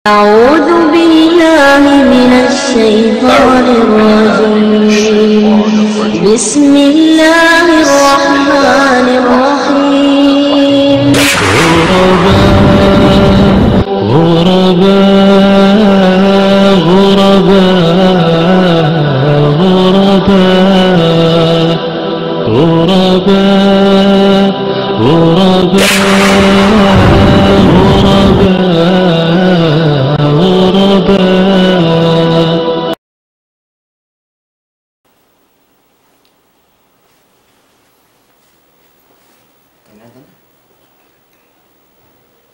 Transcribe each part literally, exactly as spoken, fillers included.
أعوذ بالله من الشيطان الرجيم. بسم الله الرحمن الرحيم. غرباء، غرباء، غرباء، غرباء. غرباء، غرباء، غرباء، غرباء.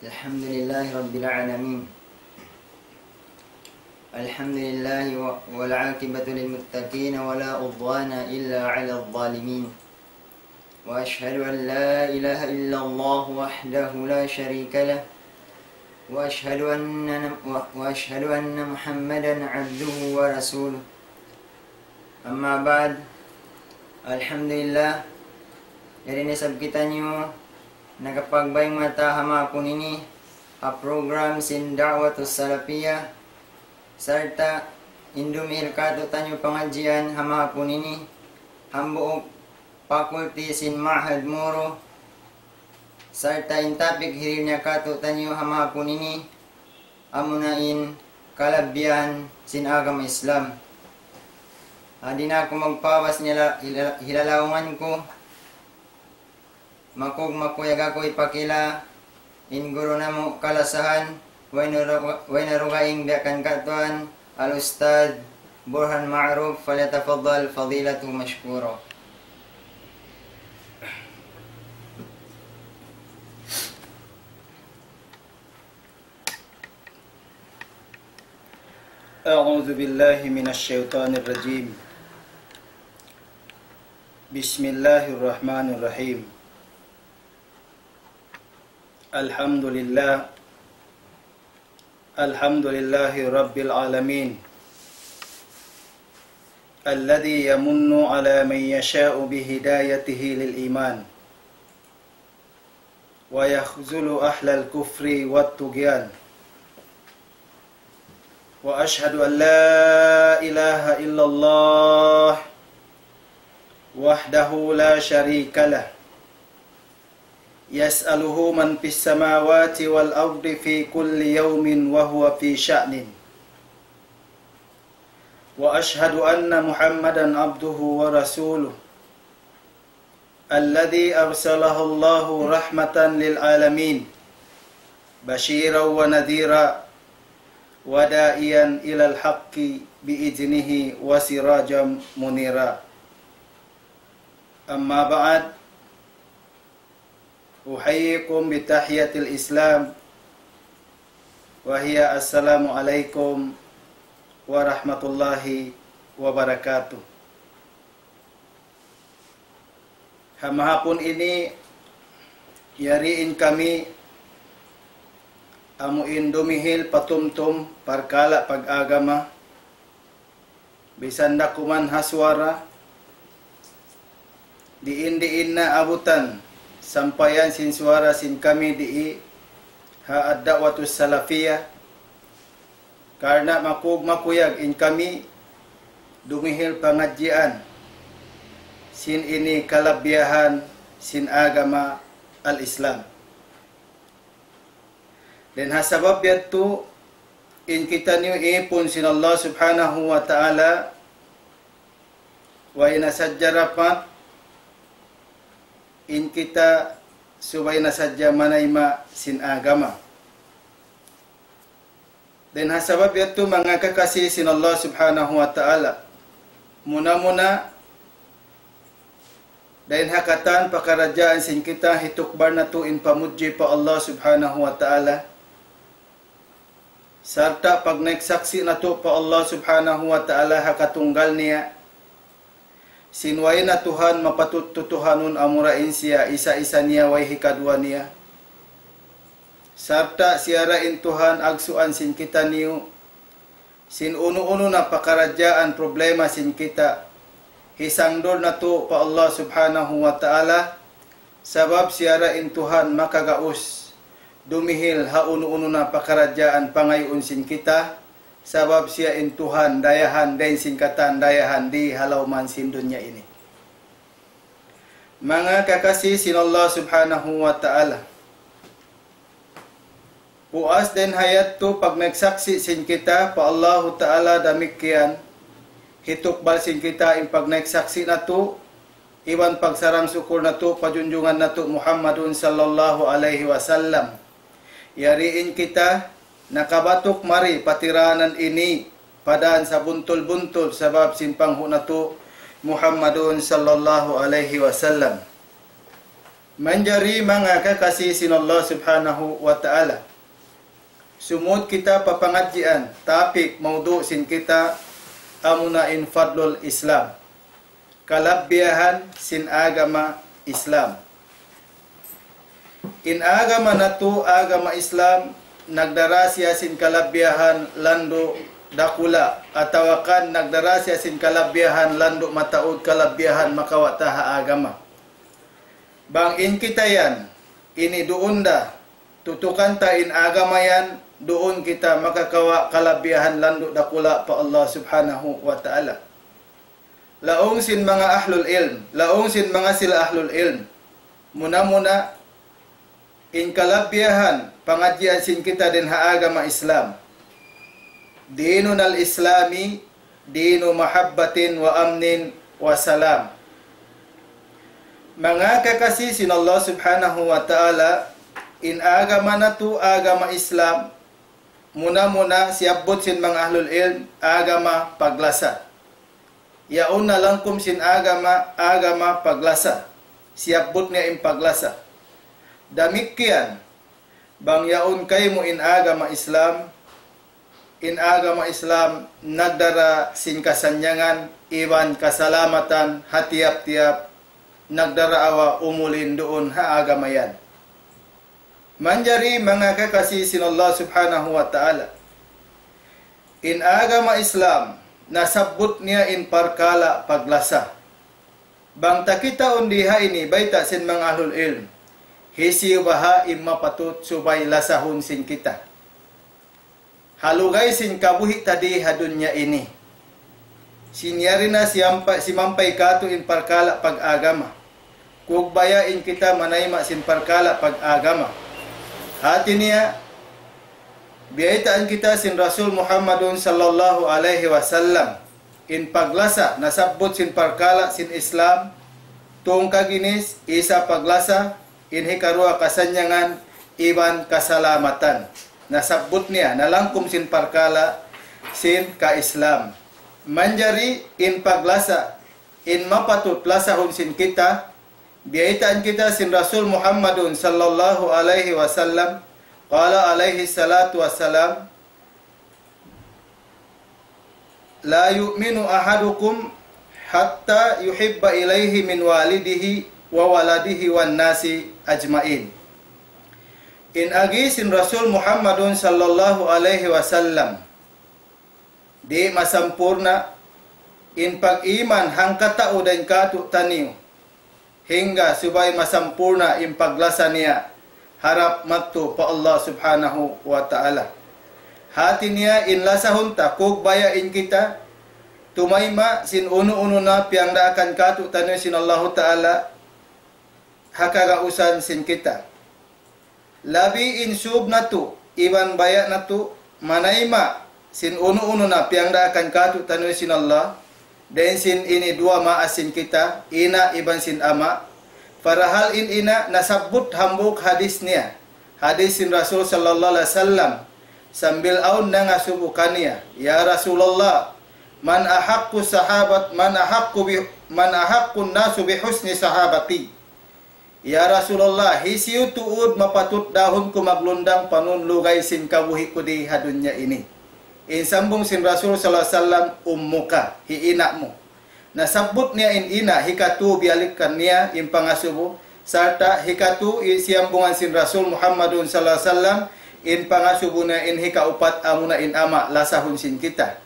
الحمد لله رب العالمين. الحمد لله و-، والعاقبة للمتقين ولا عدوان إلا على الظالمين. وأشهد أن لا إله إلا الله وحده لا شريك له. وأشهد أن، و-، وأشهد أن محمدا عبده ورسوله. أما بعد. Alhamdulillah. Yari na isab kitaniyu nakapagbayng mata ha mahapun ini ha program sin Da'watus Salafiyah, sarta' in dumihil kātu'niyu pangadjian ha mahapun ini, hambuuk faculty sin Ma'had Moro, sarta' in topic hirihil niya kātu'niyu ha mahapun ini, amuna in kalabihan sin agama Islam. Di' na aku magpawas nila-, hila-, hilalaungan ku, makug-, makuyag aku hipakila in guru namu' kalasahan, way na ru-, way na dugaing biya' kan katuan, Al-Ustadz Burhan Ma'ruf, فليتفضل فضيلته مشكورا. أعوذ بالله من الشيطان الرجيم. بسم الله الرحمن الرحيم. الحمد لله. الحمد لله رب العالمين. الذي يمن على من يشاء بهدايته للإيمان. ويخذل أهل الكفر والطغيان. وأشهد أن لا إله إلا الله وحده لا شريك له. يسأله من في السماوات والأرض في كل يوم وهو في شأن. وأشهد أن محمدا عبده ورسوله. الذي أرسله الله رحمة للعالمين بشيرا ونذيرا وداعيا إلى الحق بإذنه وسراجا منيرا. أما بعد، أحييكم بتحية الإسلام وهي السلام عليكم ورحمة الله وبركاته. Ha mahapun ini, yari in kami amu in dumihil patumtum parkala' pag-agama, bisan da kuman ha suwara, diin-diin na abutan, sampayan sin suwara sin kami dii ha Ad-Da'watus Salafiyah, karna' makug-, makuyag in kami dumihil pangadjian sin ini kalabihan sin agama al-Islam. Dayn ha sabab yadtu, in kitaniyu ipun sin Allah Subhanahu wa Ta'ala, way na sadja dapat in kita subay na sadja manayma' sin agama. Dayn ha sabab yadtu, manga kakasi sin Allah Subhanahu wa Ta'ala, muna-muna, dayn ha katan pakaradjaan sin kita hitukbal natu' in pamudji pa Allah Subhanahu wa Ta'ala, sarta' pagnaik saksi' natu' pa Allah Subhanahu wa Ta'ala ha katunggal niya, sin way na Tuhan mapatut tutuhanun amura in siya isa-isa niya way hikaduwa niya. Sarta' siya ra in Tuhan agsuan sin kitaniyu, sin unu-unu na pakaradjaan problema sin kita, hisangdul natu' pa Allah Subhanahu wa Ta'ala, sabab siya ra in Tuhan makagaus dumihil ha unu-unu na pakaradjaan pangayuun sin kita, sabab siya in Tuhan dayahan dayn sin katan dayahan di ha lawm sin dunya ini. Manga kakasi sin Allah Subhanahu wa Ta'ala. Puas dayn ha yadtu pagnaiksaksi' sin kita pa Allahu Ta'ala damikkiyan, hitukbal sin kita in pagnaiksaksi' natu', iban pagsarang-sukul natu' pa junjungan natu' Muhammadun sallallahu alayhi wasallam. Yari in kita nakabatuk mari pa tiranan ini, pa dan sabuntul-buntul sabab sin panghu' natu' Muhammadun sallallahu alayhi wasallam. Manjari manga kakasi sin Allah Subhanahu wa Ta'ala. Sumud kita pa pangadjian, topic, mawdu' sin kita, amuna in fadlul Islam. Kalabbiyahan sin agama Islam. In agama natu', agama Islam, nagdara siya sin kalabbiyahan landu' dakula', atawa kan nagdara siya sin kalabbiyahan landu' mataud, kalabbiyahan makawa' ta ha agama. Bang in kita yan, ini duun da, tutukan ta in agama yan, duun kita makakawa' kalabbiyahan landu' dakula' pa Allah Subhanahu wa Ta'ala. Laung sin manga ahlul ilm, laung sin manga sila ahlul ilm. Muna-muna, in kalabbiyahan pangadjian sin kita dayn ha agama Islam. ديننا الإسلام دين محبة وأمن وسلام. Manga kakasi sin Allah Subhanahu wa Ta'ala, in agama natu', agama Islam, muna-muna siyabbut sin manga ahlul ilm, agama paglasa. Yaun na langkum sin agama, agama paglasa. Siyabbut niya in paglasa. Damikkiyan, bang yaun kaymu in agama Islam, in agama Islam nagdara sin kasannyangan iban kasalamatan ha tiyap-tiyap nagdaraawa umulin duun ha agama yan. Manjari manga kakasi sin Allah Subhanahu wa Ta'ala. In agama Islam, nasabbut niya in parkala' paglasa. Bang ta kitaun di ha ini bayta' sin manga ahlul ilm, hisiyu baha' in mapatut subay lasahun sin kita ha lugay sin kabuhi' ta di ha dunya ini. Sin yari na siyampay, simampay katu' in parkala' pag-agama. Kugbaya in kita manayma' sin parkala' pag-agama. Hati niya, biyaytaan kita sin Rasul Muhammadun sallallahu alayhi wasallam. In paglasa, nasabbut sin parkala' sin Islam, tungka ginis, isa paglasa, in hikaruwa kasannyangan, iban kasalamatan. Nasabbut niya, nalangkum sin parkala' sin ka-Islam. Manjari in paglasa, in mapatut lasahun sin kita, biyaytaan kita sin Rasul Muhammadun sallallahu alayhi wasallam, qala alayhi salatu wassalam, لا يؤمن أحدكم حتى يحب إليه من والده وولده والناس أجمعين. In agi sin Rasul Muhammadun sallallahu alayhi wasallam, di' masampurna' in pag-iman hangkatau dayn kātu'niyu, hangga subay masampurna' in paglasa niya harap madtu pa Allah Subhanahu wa Ta'ala. Hati niya in lasahun ta, kugbaya in kita tumayma' sin unu-unu na piyangdaakan kātu'niyu sin Allahu Ta'ala ha kagausan sin kita. Labi in sūb natu', iban baya' natu', manayma' sin unu-unu na piyangdaakan kātu'niyu sin Allah, dayn sin ini duwa maas sin kita, ina' iban sin ama'. Parahal in ina' nasabbut hambuuk hadis niya. Hadis sin Rasul sallallahu alayhi wasallam, sambil awn nangasubu kaniya, "Ya Rasulullah, من أحق الصحابة، من أحق ب، من أحق الناس بحسن صحابتي." "Ya Rasulullah, hisiyu tuud mapatut dahun ku maglundang panun lugay sin kabuhi' ku di ha dunya ini?" In sambung sin Rasul sallallahu alayhi wasallam, "أمك, hi ina' mu." Nasabbut niya in ina', hikatū biyalikan niya in pangasubu, sarta' hikatū i-, siyambungan sin Rasul Muhammadun sallallahu alayhi wasallam, in pangasubu niya in hikaupat amuna in ama', lasahun sin kita.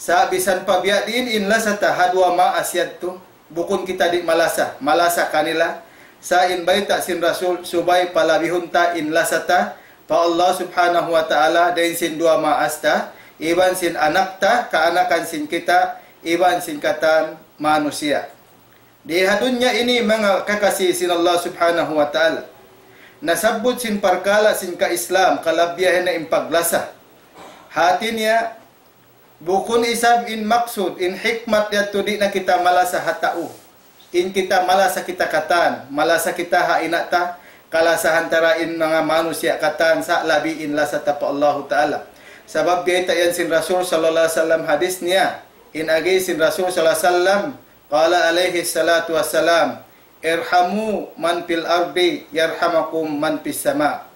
Sa' bisan pa biya' diin in lasa ta ha duwa maas yadtu, bukun kita di' malasa, malasa kanila. Sa' in bayta' sin Rasul, subay palabihun ta in lasa ta, pa Allah Subhanahu wa Ta'ala, dayn sin duwa maas ta, iban sin anak ta, kaanakan sin kita, iban sin katan manusiya'. Di ha dunya ini manga kakasi sin Allah Subhanahu wa Ta'ala. Nasabbut sin parkala' sin ka-Islam, kalabihan na in paglasa. Hati niya, bukun isab in maksud, in hikmat yadtu di' na kita malasa ha tau. In kita malasa kita katan, malasa kita ha ina' ta, kalasahan ta ra in manga manusiya' katan sa' labi in lasa ta pa Allahu Ta'ala. Sabab biyayta' yan sin Rasul sallallahu alayhi wasallam hadis niya, in agi sin Rasul sallallahu alayhi wasallam, قال عليه الصلاة والسلام: ارحموا من في الأرض يرحمكم من في السماء.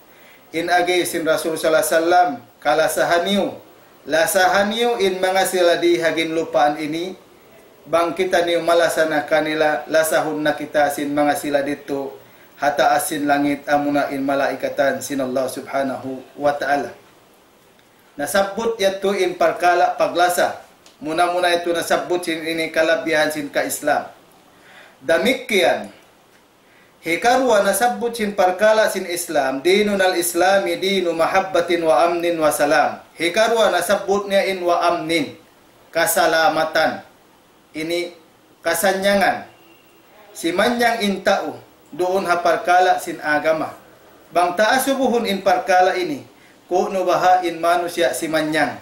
In agi sin Rasul sallallahu alayhi wasallam, kalasahan niyu, lasahan niyu in manga sila di ha ginlupaan ini, bang kitaniyu malasa na kanila, lasahun na kita sin manga sila didtu ha taas sin langit, amuna in malaikatan sin Allah Subhanahu wa Ta'ala. Nasabbut yadtu in parkala' paglasa. Muna-muna yadtu nasabbut sin ini kalabihan sin ka-Islam. Damikkiyan, hikaruwa nasabbut sin parkala' sin Islam, ديننا الإسلام دين محبة وأمن وسلام. Hikaruwa nasabbut niya in وأمن, kasalamatan. Ini kasannyangan. Simanyang in tau duun ha parkala' sin agama. Bang ta asubuhun in parkala' ini, ku'nu baha' in manusiya' simanyang.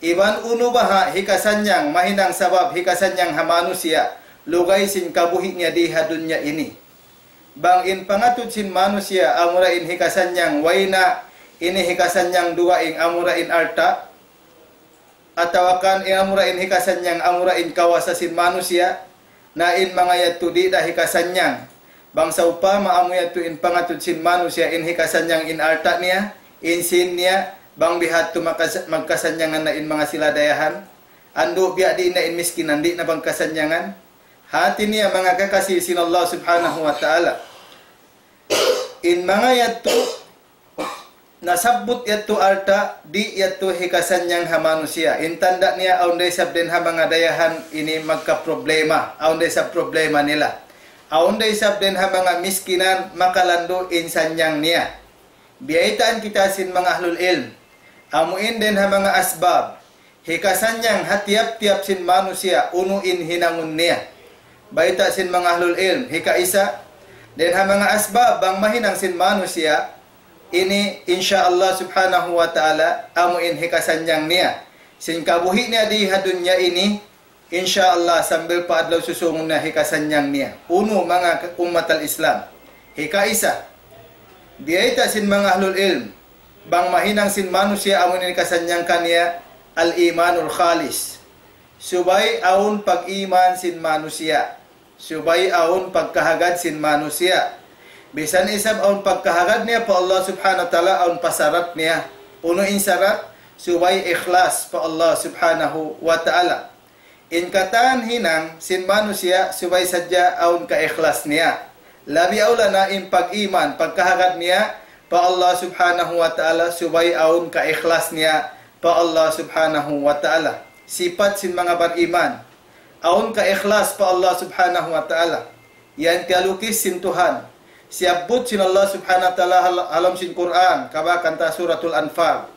Iban unu baha' hikasanyang, mahinang sabab hikasanyang ha manusiya', lugay sin kabuhi' niya di ha dunya ini. Bang in pangatud sin manusiya', amura in hikasanyang, way na ini hikasanyang dugaing, amura in alta', atawa kan in amura in hikasanyang, amura in kawasa sin manusiya', na in manga yadtu di' da hikasanyang. Bang sawpama amu yadtu in pangatud sin manusiya' in hikasanyang in alta' niya, in sīn niya, bang bihadtu makas-, magkasanyangan na in manga sila dayahan. Andu' biya' diin na in miskinan, di' na bang kasanyangan. Hati niya manga kakasi sin Allah Subhanahu wa Ta'ala. In manga yadtu, nasabbut yadtu alta', di' yadtu hikasanyang ha manusiya'. In tanda' niya, awn da isab dayn ha manga dayahan ini magkaproblema, awn da isab problema nila. Awn da isab dayn ha manga miskinan makalandu' in sanyang niya. Biyaytaan kita sin manga ahlul ilm. Amu in dayn ha manga asbab hikasanyang ha tiyap-tiyap sin manusiya' unu in hinangun niya. Bayta' sin manga ahlul ilm, hikaisa, dayn ha manga asbab bang mahinang sin manusiya', ini, insya Allah Subhanahu wa Ta'ala, amu in hikasanyang niya sin kabuhi' niya di ha dunya ini, insya Allah, sambil pa adlaw susūngun na hikasanyang niya. Unu, manga ummat al-Islam. Hikaisa, biyayta' sin manga ahlul ilm, bang mahinang sin manusiya' amu in hikasanyang kaniya, al-imanul khalis. Subay awn pag-iman sin manusiya'. Subay awn pagkahagad sin manusiya'. Bisan isab awn pagkahagad niya pa Allah Subhanahu wa Ta'ala, awn pa sarat niya. Unu in sarat? Subay ikhlas pa Allah Subhanahu wa Ta'ala. In katan hinang sin manusiya' subay sadja awn kaikhlas niya. Labi awla na in pag-iman, pagkahagad niya pa Allah Subhanahu wa Ta'ala, subay awn kaikhlas niya pa Allah Subhanahu wa Ta'ala. Sipat sin manga bariman, awn kaikhlas pa Allah Subhanahu wa Ta'ala. Yan kiyalukis sin Tuhan. Siyabbut sin Allah Subhanahu wa Ta'ala hal-, ha lawm sin Qur'an, kabakan ta Suratul Anfal.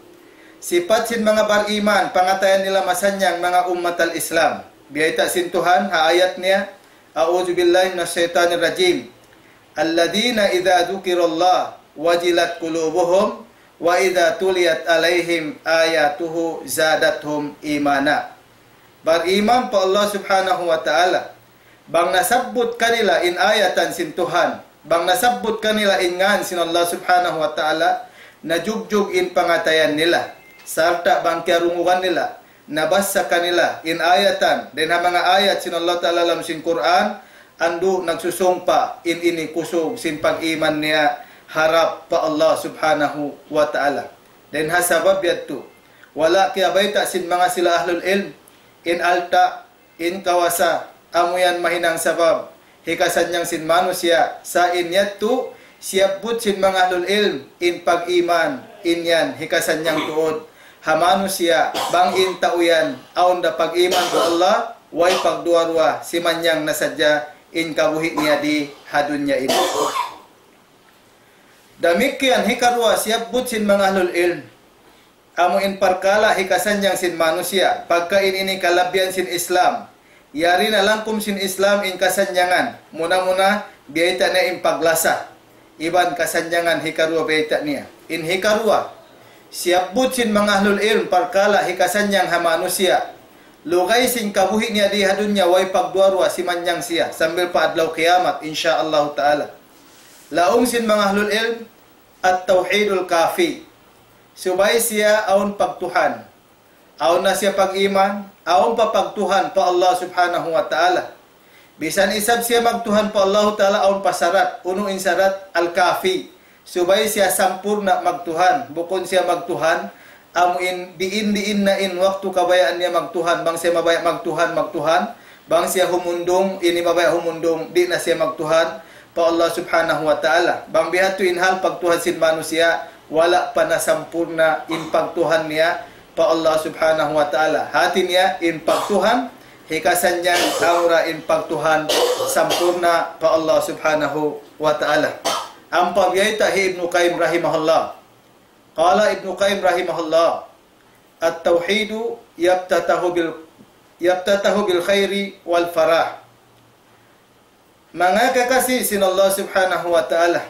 Sipat sin manga bariman, pangatayan nila masanyang manga ummat al-Islam. Biyayta' sin Tuhan, ha ayat niya, أعوذ بالله من الشيطان الرجيم. الذين إذا ذكر الله وجلت قلوبهم وإذا تليت عليهم آياته زادتهم إيمانا. Bariman pa Allah Subhanahu wa Ta'ala. Bang nasabbut kanila in ayatan sin Tuhan, bang nasabbut kanila in ngān sin Allah Subhanahu wa Ta'ala, najugjug in pangatayan nila. Sarta' bang kiyarungugan nila, nabassa kanila in ayatan, dayn ha manga ayat sin Allah Ta'ala ha lawm sin Qur'an, andu' nagsusung pa in ini kusug sin pag-iman niya harap pa Allah Subhanahu wa Ta'ala. Dayn ha sabab yadtu, wala' kiyabayta' sin manga sila ahlul ilm, in alta', in kawasa, amu yan mahinang sabab hikasanyang sin manusiya', sa' in yadtu, siyabbut sin manga ahlul ilm, in pag-iman, in yan hikasanyang tuud ha manusiya', bang in tau yan awn da pag-iman pa Allah, way pagduwa-ruwa, simanyang na sadja in kabuhi' niya di ha dunya ini. Damikkiyan hikaruwa siyabbut sin manga ahlul ilm, amu in parkala' hikasannyang sin manusiya', pagka in ini kalabihan sin Islam, yari na langkum sin Islam in kasannyangan, muna-muna biyayta' niya in paglasa, iban kasannyangan hikaruwa biyayta' niya. In hikaruwa, siyabbut sin manga ahlul ilm parkala' hikasannyang ha manusiya', lugay sin kabuhi' niya di ha dunya way pagduwa-ruwa simannyang siya, sambil pa adlaw kiyamat, insya Allah ta'ala. Laung sin manga ahlul ilm, at-tawhidul kafi. Subay siya awn pagtuhan. Awn na siya pag-iman, awn pa pagtuhan pa Allah subhanahu wa ta'ala. Bisan isab siya magtuhan pa Allah ta'ala awn pa sarat, unu in sarat al-kafi. Subay siya sampurna' magtuhan, bukun siya magtuhan, amu in diin-diin na in waktu kabayaan niya magtuhan, bang siya mabaya' magtuhan, magtuhan, bang siya humundung, ini mabaya' humundung, di' na siya magtuhan pa Allah subhanahu wa ta'ala. Bang biya' hādtu in hal pagtuhan sin manusiya', wala' pa nasampurna' in pagtuhan niya pa Allah subhanahu wa ta'ala. Hāti niya in pagtuhan, hikasannyang amura in pagtuhan sampurna' pa Allah subhanahu wa ta'ala. Ampa biyayta' hi Ibnu Qayyim rahimahullah. Qala Ibnu Qayyim rahimahullah, at-tawhidu yaftatahu bil, yaftatahu bil khairi wal farah. Manga kakasi sin Allah subhanahu wa ta'ala.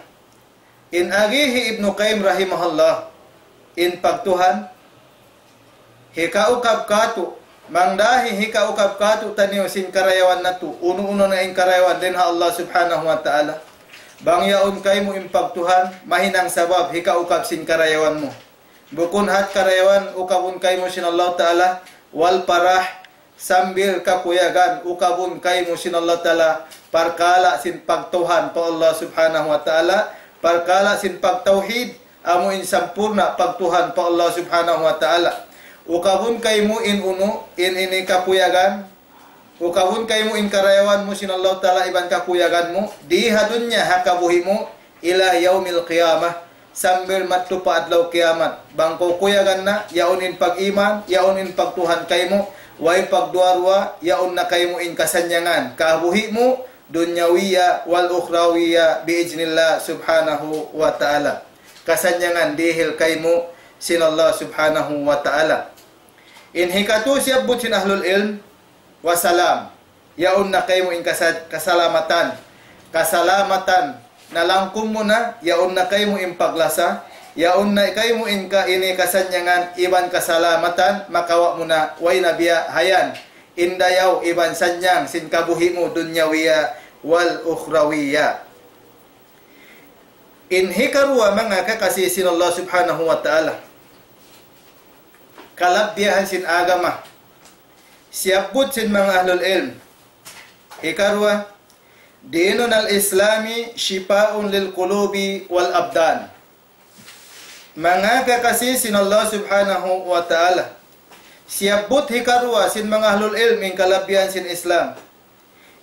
In agi hi Ibnu Qayyim rahimahullah, in pagtuhan, hikaukab kātu', mangdahi hikaukab kātu'niyu sin karayawan natu', unu-unu na in karayawan dayn ha Allah subhanahu wa ta'ala. Bang yaun kaymu in pagtuhan, mahinang sabab hikaukab sin karayawan mu. Bukun hat karayawan ukabun kaymu sin Allah ta'ala, wal farah, sambil kakuyagan ukabun kaymu sin Allah ta'ala, parkala' sin pagtuhan pa Allah subhanahu wa ta'ala, parkala' sin pagtawhid, amu in sampurna' pagtuhan pa Allah subhanahu wa ta'ala. Ukabun kaymu in unu, in ini kakuyagan, ukabun kaymu in karayawan mu sin Allah ta'ala iban kakuyagan mu, di ha dunya ha kabuhi' mu, ila yawmil qiyamah, sambil madtu pa adlaw kiyamat. Bang kaw kuyagan na, yaun in pag-iman, yaun in pagtuhan kaymu, way pagduwa-ruwa, yaun na kaymu in kasannyangan, kabuhi' mu, dunyawiya wal ukhrawiya bi iznillah subhanahu wa ta'ala. Kasannyangan dihil kaymu sin Allah subhanahu wa ta'ala. In hikatu siyabbut sin ahlul ilm, wa salam. Yaun na kaymu in kasa-, kasalamatan. Kasalamatan. Nalangkum mu na, yaun na kaymu in paglasa, yaun na kaymu in ka-, ini kasannyangan, iban kasalamatan, makawa' mu na, way na biya' hayan. In dayaw, iban sannyang, sin kabuhi' mu, dunyawiya, wal ukhrawiya. In hikaruwa manga kakasi sin Allah subhanahu wa ta'ala. Kalabihan sin agama. Siyabbut sin manga ahlul ilm. Hikaruwa, dinun al-Islami shifa'un lil qulubi wal abdan. Manga kakasi sin Allah subhanahu wa ta'ala. Siyabbut hikaruwa sin manga ahlul ilm in kalabihan sin Islam.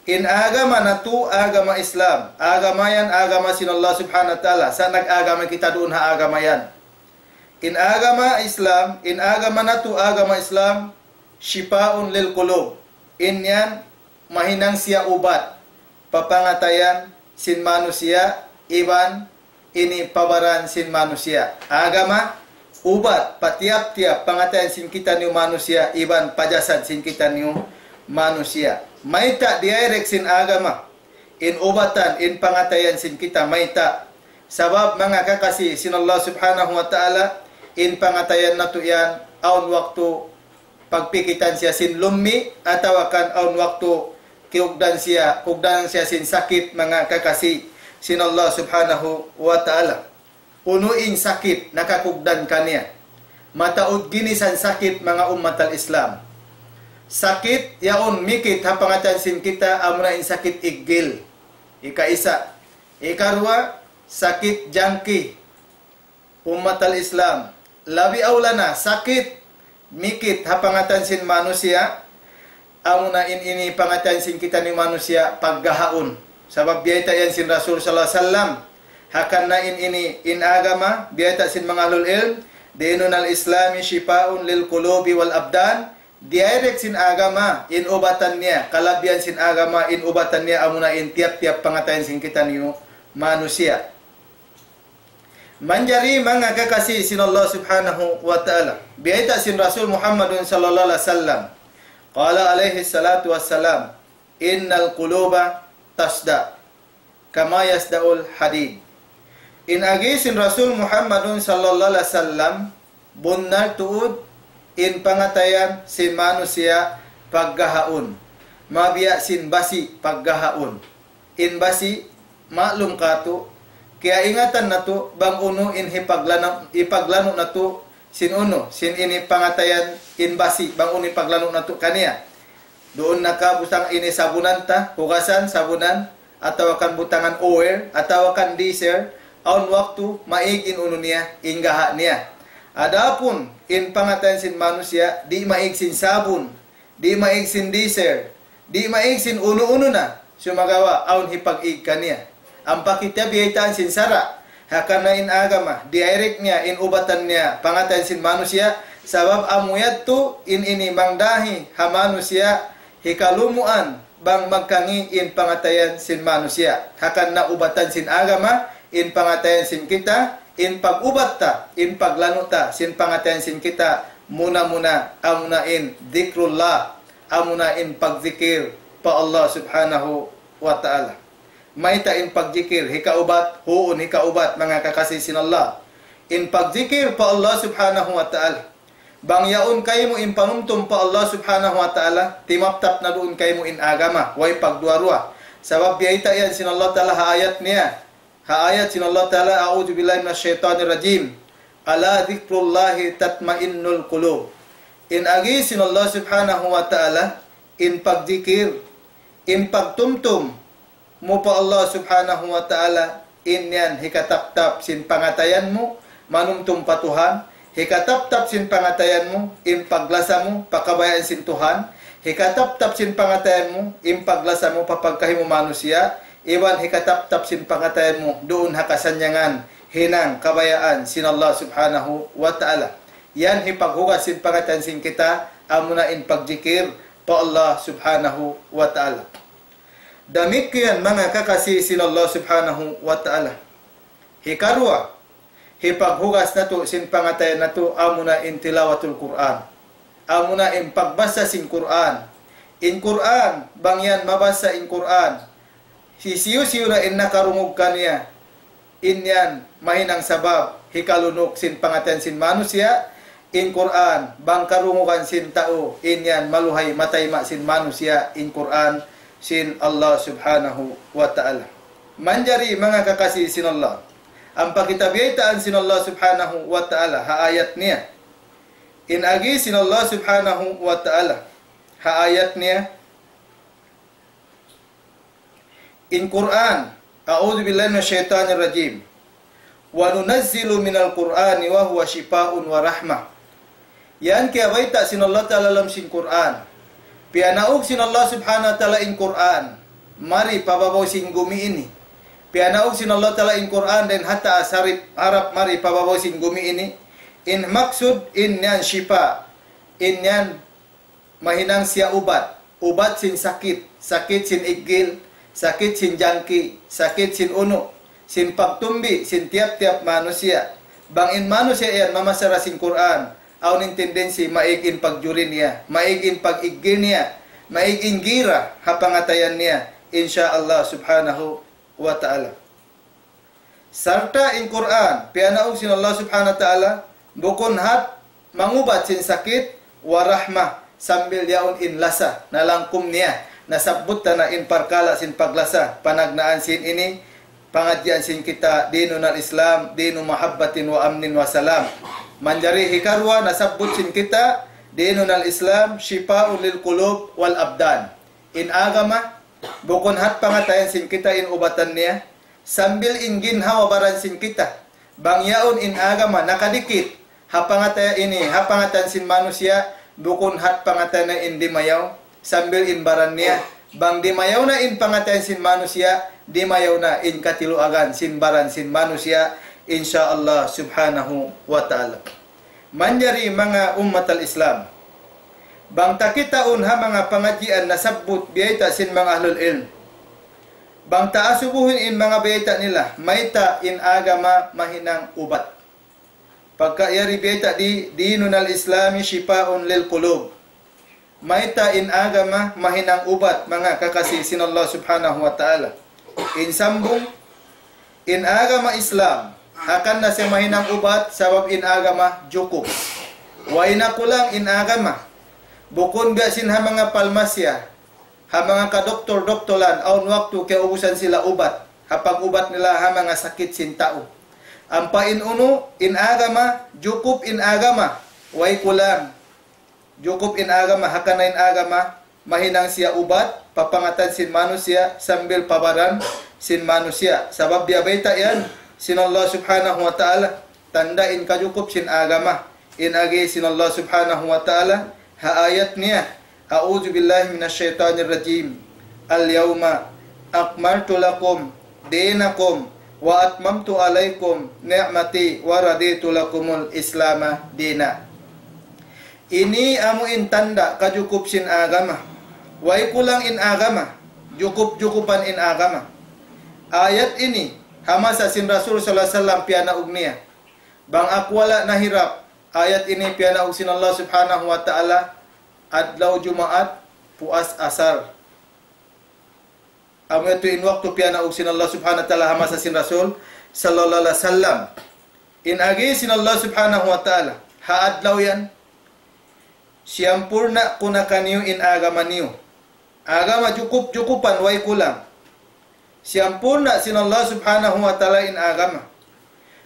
In agama natu' agama Islam. Agama yan agama sin Allah subhanahu wa ta'ala. Sa' nag-agama kita duun ha agama yan. In agama Islam, in agama natu' agama Islam, shifa'un lil qulub. In yan mahinang siya ubat pa pangatayan sin manusiya', iban ini pa baran sin manusiya'. Agama, ubat pa tiyap-tiyap pangatayan sin kitaniyu manusiya', iban pa jasad sin kitaniyu manusiya'. Mayta' direct sin agama in ubatan, in pangatayan sin kita, mayta'? Sabab manga kakasi sin Allah subhanahu wa ta'ala, in pangatayan natu' yan, awn waktu pagpikitan siya sin lummi', atawa kan awn waktu kiyugdan siya, kugdan siya sin sakit, manga kakasi sin Allah subhanahu wa ta'ala. Unu in sakit nakakugdan kaniya? Mataud ginisan sakit, manga ummat al-Islam. Sakit yaun mikit ha pangatayan sin kita, amuna in sakit iggil. Ikaisa. Ikaruwa, sakit jangki. Ummat al-Islam, labi awla na sakit mikit ha pangatayan sin manusiya', amuna in ini pangatayan sin kitaniyu manusiya' paggahaun. Sabab biyayta' yan sin Rasul sallallahu alayhi wasallam. Hangkan na in ini, in agama, biyayta' sin manga ahlul ilm, dinun al-Islami shifa'un lil qulubi wal abdan, direct sin agama, in ubatan niya, kalabihan sin agama, in ubatan niya, amuna in tiyap-tiyap pangatayan sin kitaniyu manusiya'. Manjari manga kakasi sin Allah Subhanahu wa Ta'ala. Biyayta' sin Rasul Muhammadun sallallahu alaihi wasallam. Qala alaihi salatu wassalam, "Innal quluba tasda, kama yasda'ul hadid." In agi sin Rasul Muhammadun sallallahu alaihi wasallam, bunnal tuud in pangatayan sin manusiya' paggahaun. Mabiya' sin basi' paggahaun. In basi', maklum katu', kiyaingatan natu', bang unu in hipaglanu', hipaglanu' natu', sin unu, sin ini pangatayan in basi', bang unu hipaglanu' natu' kaniya. Duun na ka butang ini sabunan ta, hugasan, sabunan, atawa kan butangan oil, atawa kan diesel, awn waktu, maig in unu niya, in gaha' niya. Adapun, in pangatayan sin manusiya', di' maig sin sabun, di' maig sin diesel, di' maig sin unu-unu na, sumagawa' awn hipag-ig kaniya. Ampa kita biyaytaan sin sara', hangkan in agama, direct niya, in ubatan niya, pangatayan sin manusiya', sabab amu yadtu in ini mangdahi ha manusiya', hikalumuan, bang magkangi' in pangatayan sin manusiya'. Hangkan na ubatan sin agama, in pangatayan sin kita, in pag-ubat ta, in paglanu' ta, sin pangatayan sin kita, muna-muna, amuna in dhikrullah, amuna in pagzikir pa Allah Subhanahu wa Ta'ala. Mayta' in pagzikir, hikaubat, huun hikaubat, manga kakasi sin Allah. In pagzikir pa Allah Subhanahu wa Ta'ala. Bang yaun kaymu in panumtum pa Allah Subhanahu wa Ta'ala, timaptap na duun kaymu in agama, way pagduwa-ruwa. Sabab biyayta' yan sin Allah Ta'ala ha ayat niya. Ha ayat sin Allah Ta'ala, "A'udhu billahi minash shaitanir rajim. Ala dhikrullahi tatma'innul qulub." In agi sin Allah Subhanahu wa Ta'ala, in pagzikir, in pagtumtum mu pa Allah Subhanahu wa Ta'ala, in yan hikataptap sin pangatayan mu, manumtum pa Tuhan, hikataptap sin pangatayan mu, in paglasa mu, pa kabayaan sin Tuhan, hikataptap sin pangatayan mu, in paglasa mu, pa pagkahi mu manusiya', iban hikataptap sin pangatayan mu, duun ha kasannyangan, hinang kabayaan sin Allah Subhanahu wa Ta'ala. Yan hipaghugas sin pangatayan sin kita, amuna in pagjikir pa Allah Subhanahu wa Ta'ala. Damikkiyan manga kakasi sin Allah Subhanahu wa Ta'ala. Hikaruwa, hipaghugas natu' sin pangatayan natu' amuna in tilawatul Qur'an. Amuna in pagbasa sin Qur'an. In Qur'an, bang yan mabasa in Qur'an, hisiyu-siyu na in nakarungug kaniya, in yan mahinang sabab hikalunuk sin pangatayan sin manusiya', in Qur'an, bang karungugan sin tau, in yan maluhay matayma' sin manusiya', in Qur'an sin Allah Subhanahu wa Ta'ala. Manjari manga kakasi sin Allah. Ampa kita biyaytaan sin Allah Subhanahu wa Ta'ala, ha ayat niya. In agi sin Allah Subhanahu wa Ta'ala, ha ayat niya. In Qur'an, أعوذ بالله من الشيطان الرجيم. وننزل من القرآن ما هو شفاء ورحمة. Yan kiyabayta' sin Allah Ta'ala ha lawm sin Qur'an. Piyanaug sin Allah Subhanahu wa Ta'ala in Qur'an. Mari pa babaw sin gumi ini. Piyanaug sin Allah Ta'ala in Qur'an dayn ha taas harap, harap mari pa babaw sin gumi ini. In maksud in yan shifa. In yan mahinang siya ubat. Ubat sin sakit, sakit sin iggil, sakit sin jangki, sakit sin unu', sin pagtumbi, sin tiyap-tiyap manusiya'. Bang in manusiya' yan mamasa da sin Qur'an, awn in tendency maig in pagjuri niya, maig in pag-iggil niya, maig in gira ha pangatayan niya, insya Allah Subhanahu wa Ta'ala. Sarta' in Qur'an, piyanaug sin Allah Subhanahu wa Ta'ala, bukun hat mangubat sin sakit, wa rahmah, sambil yaun in lasa, nalangkum niya, nasabbut ta na in parkala' sin paglasa, panagnaan sin ini, pangadjian sin kita, ديننا الإسلام دين محبة وأمن وسلام. Manjari hikaruwa, nasabbut sin kita, ديننا الإسلام شفاء للقلوب والأبدان. In agama, bukun hat pangatayan sin kita in ubatan niya, sambil in ginhawa-baran sin kita. Bang yaun in agama nakadikit, ha pangatayan ini, ha pangatayan sin manusiya', bukun hat pangatayan na in dimayaw, sambil in baran niya. Bang dimayaw na in pangatayan sin manusiya', dimayaw na in katiluagan sin baran sin manusiya', insya Allah Subhanahu wa Ta'ala. Manjari manga ummat al-Islam. Bang ta kitaun ha manga pangadjian nasabbut biyayta' sin manga ahlul ilm. Bang ta asubuhun in manga bayta' nila, mayta' in agama mahinang ubat. Pagka yari bayta' di, ديننا الإسلام شفاء للقلوب. Mayta' in agama mahinang ubat, manga kakasi sin Allah Subhanahu wa Ta'ala. In sambung, in agama Islam, hangkan na siya mahinang ubat, sabab in agama jukup. Way na kulang in agama. Bukun biya' sin ha manga palmasya, ha manga kadoktor-doktoran, awn waktu kiyaubusan sila ubat, ha pag-ubat nila ha manga sakit sin tau. Ampa in unu, in agama, jukup in agama, way kulang. Jukup in agama, hangkan na in agama, mahinang siya ubat, pa pangatan sin manusiya', sambil pa baran sin manusiya'. Sabab biya' bayta' yan, sin Allah Subhanahu wa Ta'ala, tanda' in kajukup sin agama. In agi sin Allah Subhanahu wa Ta'ala, ha ayat niya, أعوذ بالله من الشيطان الرجيم. اليوم أكملت لكم دينكم وأتممت عليكم نعمتي ورضيت لكم الإسلام دينا. Ini amu in tanda' kajukup sin agama. Way kulang in agama. Jukup-jukupan in agama. Ayat ini, ha masa sin Rasul sallallahu alayhi wasallam piyanaug niya. Bang aku wala' nahirap, ayat ini piyanaug sin Allah Subhanahu wa Ta'ala, adlaw Jumaat, puas asar. Amu yadtu in waktu piyanaug sin Allah Subhanahu wa Ta'ala ha masa sin Rasul sallallahu alayhi wasallam. In agi sin Allah Subhanahu wa Ta'ala, ha adlaw yan, siyampurna' ku na kaniyu in agama niyu. Agama jukup-jukupan, way kulang. Siyampurna' sin Allah Subhanahu wa Ta'ala in agama.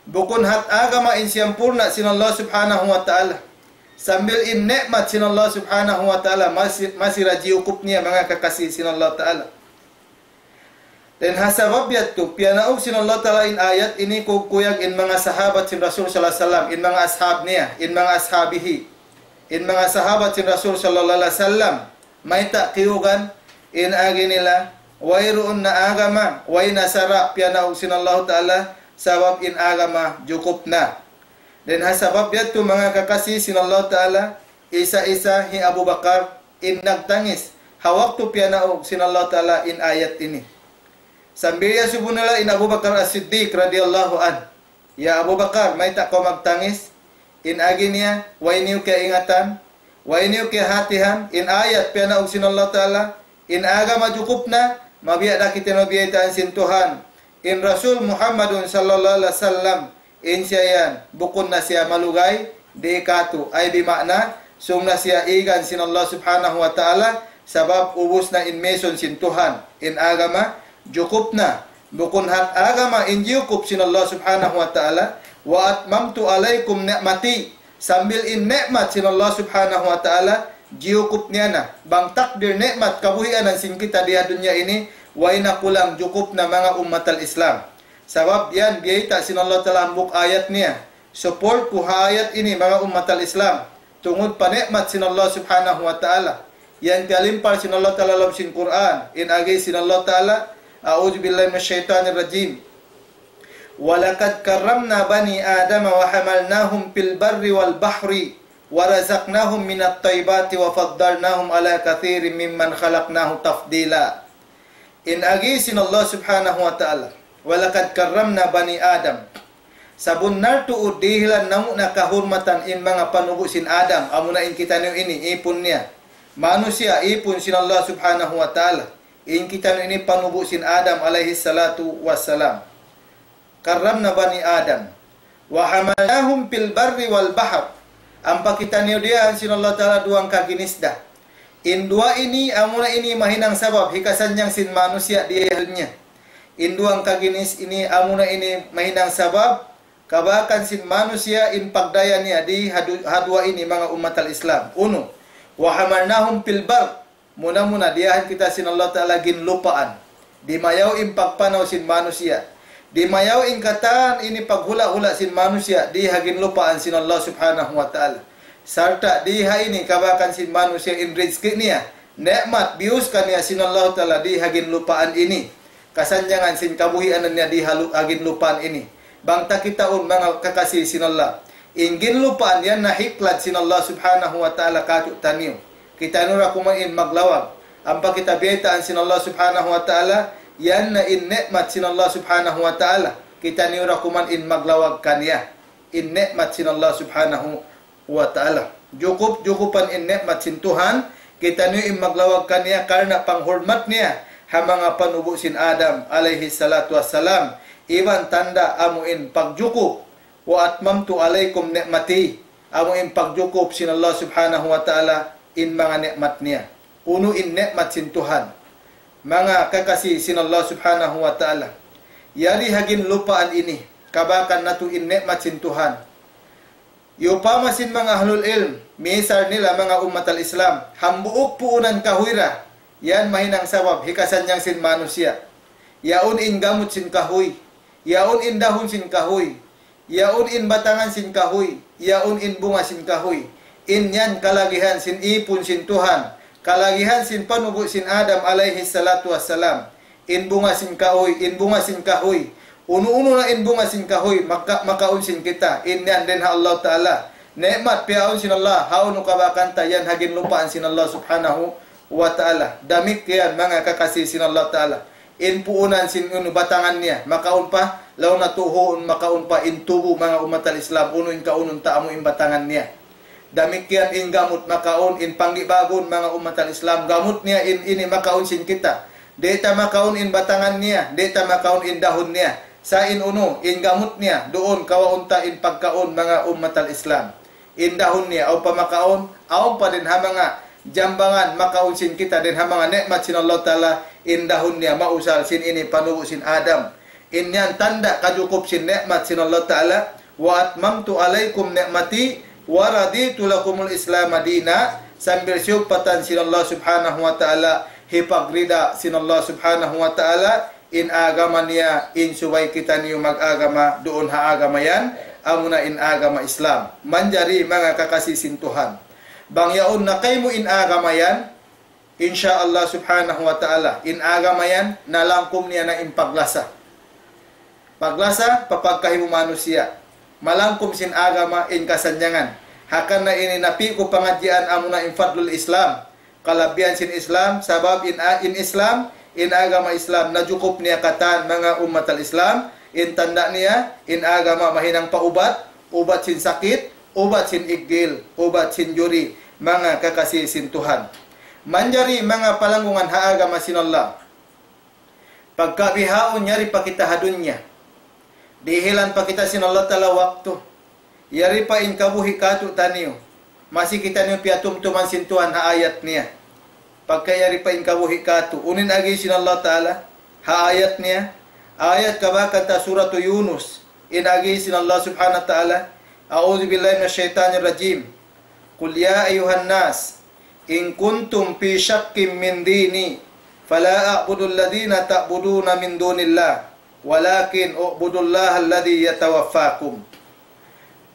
Bukun hat agama in siyampurna' sin Allah Subhanahu wa Ta'ala. Sambil in ni'mat sin Allah Subhanahu wa Ta'ala masi, masi ra jiyukup niya, manga kakasi sin Allah Ta'ala. Dayn ha sabab yadtu, piyanaug sin Allah Ta'ala in ayat ini kuyag-kuyag in manga sahabat sin Rasul sallallahu alayhi wasallam, in manga ashab niya, in manga ashabihi, in manga sahabat sin Rasul sallallahu alayhi wasallam, mayta' kiyugan in agi nila, wayruun na agama, way na sara' piyanaug sin Allah Ta'ala, sabab in agama jukup na. Dayn ha sabab yadtu, manga kakasi sin Allah Ta'ala, isa-isa hi Abu Bakar in nagtangis ha waktu piyanaug sin Allah Ta'ala in ayat ini. Sambil iyasubu nila in Abu Bakar As-Siddiq radiyallahu anhu, "Ya Abu Bakar, mayta' kaw magtangis?" In agi niya, "Way niyu kiyaingatan, way niyu kiyahatihan in ayat piyanaug sin Allah Ta'ala, in agama jukup na, mabiya' da kitaniyu biyaytaan sin Tuhan, in Rasul Muhammadun sallallahu alayhi wasallam, in siya yan, bukun na siya malugay, di' katu', ay bima'na, sung na siya igan sin Allah Subhanahu wa Ta'ala, sabab ubus na in mission sin Tuhan, in agama, jukup na, bukun hat agama in jiyukup sin Allah Subhanahu wa Ta'ala, وأتممت عليكم نعمتي, sambil in ni'mat sin Allah Subhanahu wa Ta'ala, jiyukup niya na, bang takdir ni'mat kabuhianan sin kita di ha dunya ini, way na kulang, jukup na, manga ummatal Islam. Sabab yan, biyayta' sin Allah Ta'ala hambuuk ayat niya. Support ku ha ayat ini, manga ummatal Islam. Tungud pa ni'mat sin Allah Subhanahu wa Ta'ala. Yan piyalimpal sin Allah Ta'ala ha lawm sin Qur'an. In agi sin Allah Ta'ala, أعوذ بالله من الشيطان الرجيم. ولقد كرمنا بني آدم وحملناهم في البر والبحر ورزقناهم من الطيبات وفضلناهم على كثير ممن خلقنا تفضيلا. In agi sin Allah Subhanahu wa Ta'ala, وَلَقَدْ كَرَّمْنَا بَنِي آدَمَ. Sabunnal tuud dihilan namu' na kahurmatan in manga panubu' sin Adam, amuna in kitaniyu ini, ipun niya. Manusiya', ipun sin Allah Subhanahu wa Ta'ala. In kitaniyu ini panubu' sin Adam alayhi salatu wassalam. كرمنا بني آدم وحملناهم في البر والبحر. Ampa kitaniyu diyahan sin Allah Ta'ala duwang kaginis da. In duwa ini, amuna ini mahinang sabab hikasannyang sin manusiya' dihil niya. In duwang kaginis ini, amuna ini mahinang sabab kabakan sin manusiya' in pagdaya niya di ha du-, ha duwa ini, manga ummatal Islam. Unu, وحملناهم في البر. Muna-muna, diyahan kita sin Allah Ta'ala ginlupaan. Dimayaw in pagpanaw sin manusiya'. Dimayaw in katan ini paghula'-hula' sin manusiya' di ha ginlupaan sin Allah Subhanahu wa Ta'ala. Sarta' di ha ini kabakan sin manusiya' in rizki niya. Ni'mat biyus kaniya sin Allah Ta'ala di ha ginlupaan ini. Kasannyangan sin kabuhianan niya di ha lu-, ha ginlupaan ini. Bang ta kitaun manga kakasi sin Allah. In ginlupaan yan na hiklad sin Allah Subhanahu wa Ta'ala kātu'niyu. Kitaniyu ra kuman in maglawag. Ampa kita biyaytaan sin Allah Subhanahu wa Ta'ala, Yan na in ni'mat sin Allah Subhanahu wa Ta'ala. Kitaniyu da kuman in maglawag kaniya. In ni'mat sin Allah Subhanahu wa Ta'ala. Jukup-jukupan in ni'mat sin Tuhan, kitaniyu in maglawag kaniya karna' panghurmat niya ha manga panubu' sin Adam alayhi salatu wassalam. Iban tanda' amu in pagjukup, وأتممت عليكم نعمتي, amu in pagjukup sin Allah Subhanahu wa Ta'ala in manga ni'mat niya. Unu in ni'mat sin Tuhan? Manga kakasi sin Allah Subhanahu wa Ta'ala. Yari ha ginlupaan ini, kabakan natu' in ni'mat sin Tuhan. Yupama sin manga ahlul ilm, misal nila manga ummat al-Islam, hambuuk puunan kahuy ra, yan mahinang sabab hikasannyang sin manusiya'. Yaun in gamut sin kahuy, yaun in dahun sin kahuy, yaun in batangan sin kahuy, yaun in bunga sin kahuy. In yan kalagihan sin ipun sin Tuhan, kalagihan sin panubu' sin Adam alayhi salatu wassalam. In bunga sin kahuy, in bunga sin kahuy. Unu-unu na in bunga sin kahuy, maka-, makaun sin kita. In yan dayn ha Allah Ta'ala. Ni'mat piyaun sin Allah, hawnu kabakan ta yan ha ginlupaan sin Allah Subhanahu wa Ta'ala. Damikkiyan manga kakasi sin Allah Ta'ala. In puunan sin unu batangan niya, makaun pa, laung natu' huun makaun pa in tubu' manga ummat al-Islam, unu in kaunun ta amu in batangan niya. Damikkiyan in gamut makaun, in panggibagun manga ummat al-Islam, gamut niya in ini makaun sin kita. Di' ta makaun in batangan niya, di' ta makaun in dahun niya. Sa' in unu, in gamut niya, duun kawaun ta in pagkaun manga ummat al-Islam. In dahun niya, awn pa makaun, awn pa dayn ha manga jambangan makaun sin kita dayn ha manga ni'mat sin Allah Ta'ala, in dahun niya mausal sin ini panubu' sin Adam. In yan tanda' kajukup sin ni'mat sin Allah Ta'ala, وأتممت عليكم نعمتي ورضيت لكم الإسلام دينا, sambil siyugpatan sin Allah Subhanahu wa Ta'ala, hipagrida sin Allah Subhanahu wa Ta'ala, in agama niya, in subay kitaniyu mag-agama duun ha agama yan, amuna in agama Islam. Manjari manga kakasi sin Tuhan. Bang yaun na kaymu in agama yan, insya Allah Subhanahu wa Ta'ala, in agama yan, nalangkum niya na in paglasa. Paglasa, pa pagkahi mu manusiya'. Malangkum sin agama in kasannyangan. Hangkan na ini napi' ku pangadjian amuna in fadlul Islam. Kalabihan sin Islam, sabab in a-, in Islam, in agama Islam, najukup niya katan manga ummat al-Islam, in tanda' niya, in agama mahinang pa ubat, ubat sin sakit, ubat sin iggil, ubat sin juri, manga kakasi sin Tuhan. Manjari manga palanggungan ha agama sin Allah. Pagka bihaun yari pa kita ha dunya. Dihilan pa kita sin Allah Ta'ala waktu. Yari pa in kabuhi' katu' taniyu. Masi kitaniyu piyatumtuman sin Tuhan ha ayat niya. Pagka yari pa in kabuhi' katu'. Unu in agi sin Allah Ta'ala ha ayat niya. Ayat kabakan ta Suratu Yunus. In agi sin Allah Subhanahu wa Ta'ala. أعوذ بالله من الشيطان الرجيم. قل يا أيها الناس إن كنتم في شك من ديني فلا أعبد الذين تعبدون من دون الله ولكن أعبد الله الذي يتوفاكم.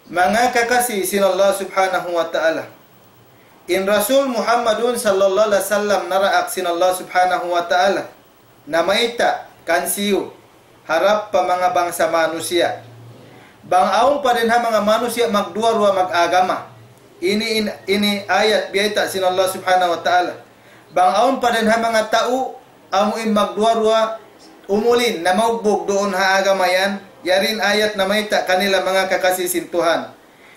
Manga kakasi sin Allah Subhanahu wa Ta'ala. In Rasul Muhammadun sallallahu alayhi wasallam naraak sin Allah Subhanahu wa Ta'ala. Namayta' kansiyu harap pa manga bangsa manusiya'. Bang awn pa dayn ha manga manusiya' magduwa-ruwa mag-agama. Ini, in-, ini ayat biyayta' sin Allah Subhanahu wa Ta'ala. Bang awn pa dayn ha manga tau, amu in magduwa-ruwa, umulin, namaugbug duun ha agama yan, yari in ayat namayta' kanila manga kakasi sin Tuhan.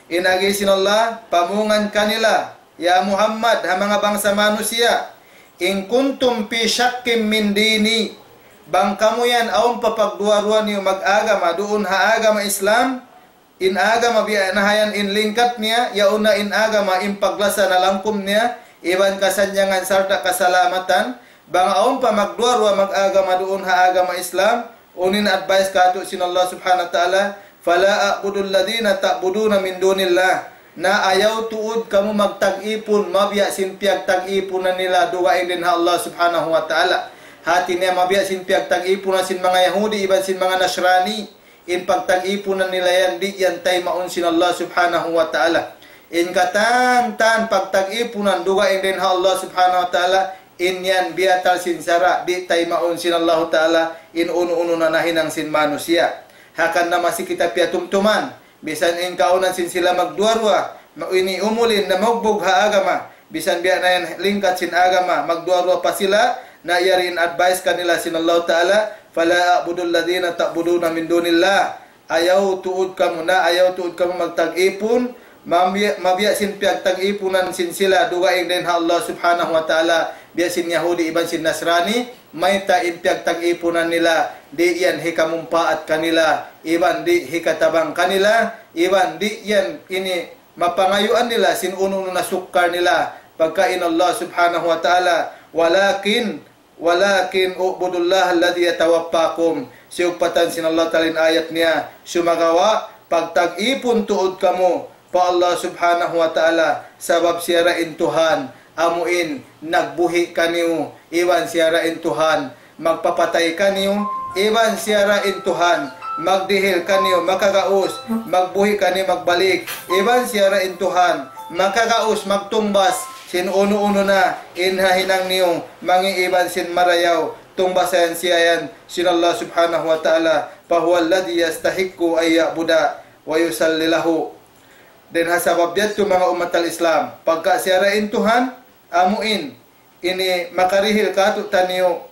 In agi sin Allah, pamungan kanila, ya Muhammad, ha manga bangsa manusiya', إن كنتم في شك من ديني, bang kamu yan awn pa pagduwa-ruwa niyu mag-agama duun ha agama Islam, in agama biya' na ha yan in lingkat niya, yaun na in agama in paglasa nalangkum niya, iban kasannyangan sarta' kasalamatan, bang awn pa magduwa-ruwa mag-agama duun ha agama Islam, unu in advice katu' sin Allah Subhanahu wa Ta'ala, فلا أعبد الذين تعبدون من دون الله. Na ayaw tuud kamu magtag-ipun, mabiya' sin piyagtag-ipunan nila dugaing dayn ha Allah Subhanahu wa Ta'ala. Hati niya mabiya' sin piyagtag-ipunan sin manga Yahudi, iban sin manga Nasrani. In pagtag-ipunan nila yan, di' yan taymaun sin Allah Subhanahu wa Ta'ala. In katan-katan pagtag-ipunan dugaing dayn ha Allah Subhanahu wa Ta'ala, in yan biyatal sin sara', di' taymaun sin Allahu Ta'ala, in unu-unu na nahinang sin manusiya'. Hangkan na masi kita piyatumtuman, misan in kaunan sin sila magduwa-ruwa, ma-, ini umulin na maugbug ha agama, misan biya' na yan lingkat sin agama, magduwa-ruwa pa sila, Na yari in advice kanila sin Allah Ta'ala, فلا تعبدوا الذين تعبدون من دون الله. Ayaw tuud kamu na, ayaw tuud kamu magtag-ipun, mabiya', mabiya' sin piyagtag-ipunan sin sila dugaing dayn ha Allah Subhanahu wa Ta'ala, biya' sin Yahudi iban sin Nasrani, mayta' in piyagtag-ipunan nila, di' yan hikamumpaat kanila, iban di' hikatabang kanila, iban di' yan ini mapangayuan nila sin unu-unu na sukkal nila, pagka in Allah Subhanahu wa Ta'ala, ولكن ولكن اعبدوا الله الذي يتوفاكم. Siyugpatan sin Allah Ta'ala in ayat niya, sumagawa', pagtag-ipun tuud kamu pa Allah Subhanahu wa Ta'ala, sabab siya ra in Tuhan, amu in nagbuhi' kaniyu, iban siya ra in Tuhan, magpapatay kaniyu, iban siya ra in Tuhan, magdihil kaniyu, makagaus, magbuhi' kaniyu, magbalik, iban siya ra in Tuhan, makagaus, magtungbas, sin unu-unu na, in ha hinang niyu, mangi' iban sin marayaw, tungbasan siya yan, sin Allah Subhanahu wa Ta'ala, فهو الذي يستحق أن يعبد ويصلى له. Dayn ha sabab yadtu manga ummat al-Islam, pagka siya ra in Tuhan, amu in, ini makarihil kātu'niyu,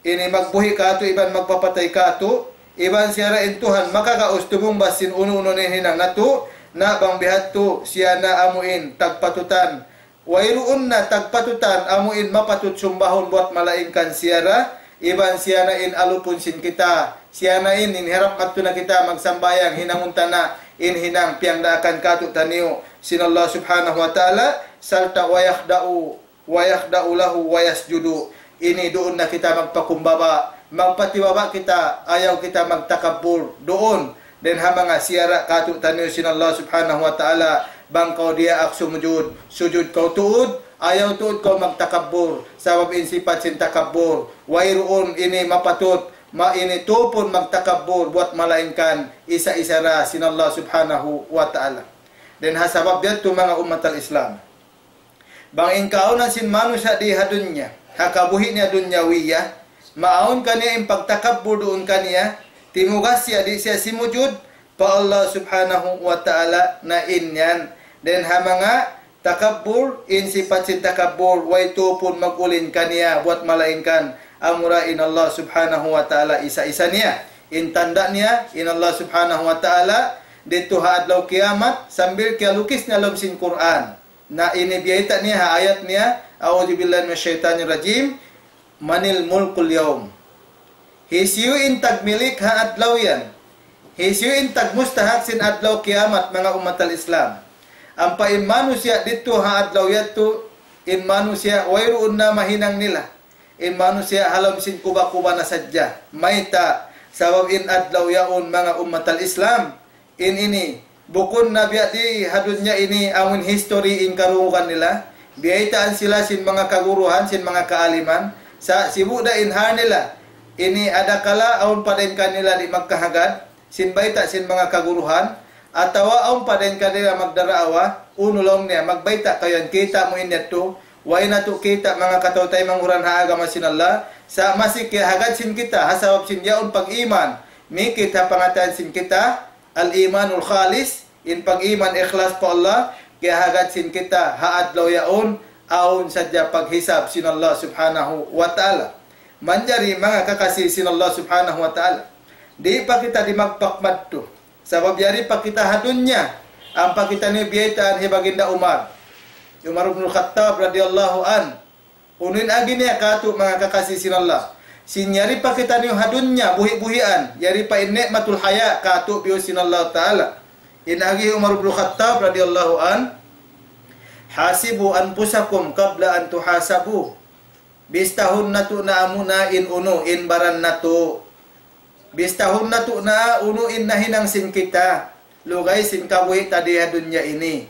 ini magbuhi' kātu' iban magpapatay kātu', iban siya ra in Tuhan, makagaus tumungbas sin unu-unu na in hinang natu', na bang bihadtu siya na amu in tagpatutan. Wayruun na tagpatutan amu in mapatut sumbahun buwat malaingkan siya ra, iban siya na in alupun sin kita, siya na in, in hirap madtu na kita magsambahayang hinangun ta na in hinang piyangdaakan kātu'niyu sin Allah Subhanahu wa Ta'ala, sarta' ويخضعوا ويخضعوا له ويسجدوا. Ini duun na kita magpakumbaba, magpatibaba kita, ayaw kita magtakabbur duun. Dayn ha manga siyara' kātu'niyu sin Allah Subhanahu wa Ta'ala, bang kaw diyaak sumujud, sujud kaw tuud, ayaw tuud kaw magtakabbur, sabab in sipat sin takabbur, wayruun ini mapatut, ma ini tupun magtakabbur buwat malaingkan isa-isa ra sin Allah Subhanahu wa Ta'ala. Dayn ha sabab yadtu manga ummat al-Islam, bang in kaawnan sin manusiya' di ha dunya, ha kabuhi' niya dunyawiya, maawn kaniya in pagtakabbur duun kaniya, timugas siya di' siya simujud pa Allah Subhanahu wa Ta'ala, na in yan. Dayn ha manga takabbur, in sipat sin takabbur, way tupun mag-ulin kaniya buwat malaingkan, amura in Allah Subhanahu wa Ta'ala isa-isa niya. In tanda' niya, in Allah Subhanahu wa Ta'ala, didtu ha adlaw kiyamat, sambil kiyalukis niya lawm sin Qur'an. Na ini biyayta' niya ha ayat niya, أعوذ بالله من الشيطان الرجيم. من الملك اليوم. Hisiyu in tagmilik ha adlaw yan? Hisiyu in tagmustahak sin adlaw kiyamat, manga ummat al-Islam? Ampa in manusiya' didtu ha adlaw yadtu, in manusiya' wayruun na mahinang nila. In manusiya' ha lawm sin kuba-kuba na sadja. Mayta'? Sabab in adlaw yaun, manga ummat al-Islam, in ini, bukun na biya' di ha dunya ini amun history in karungugan nila. Biyaytaan sila sin manga kaguruhan, sin manga kaaliman. Sa' sibu' da in hal nila. Ini adakala awn pa dayn kanila di' magkahagad sin bayta' sin manga kaguruhan, atawa awn pa dayn kanila magdaraawa, unu laung niya, magbayta' kaw yan, kita' mu in yadtu, way natu' kita' manga kataw-taymanghuran ha agama sin Allah, sa' masi kiyahagad sin kita, ha sabab sin yaun pag-iman, mikit ha pangatayan sin kita, al-imanul khalis, in pag-iman ikhlas pa Allah, kiyahagad sin kita ha adlaw yaun, awn sadja paghisab sin Allah Subhanahu wa Ta'ala. Manjari manga kakasi sin Allah Subhanahu wa Ta'ala. Di' pa kita dimagpak madtu. Sabab yari pa kita ha dunya, ampa kitaniyu biyaytaan hi Baginda Umar. Umar ibn Khattab radiyallahu anhu. Unu in agi niya kātu', manga kakasi sin Allah? Sin yari pa kitaniyu ha dunya, buhi'-buhian, yari pa in ni'matul haya kātu' biyu sin Allah Ta'ala. In agi Umar ibn Khattab radiyallahu anhu, حاسبوا أنفسكم قبل أن تحاسبوا. Bistahun natu' na amuna in unu, in baran natu'. Bistahun natu' na unu in nahinang sin kita, lugay sin kabuhi' ta di ha dunya ini.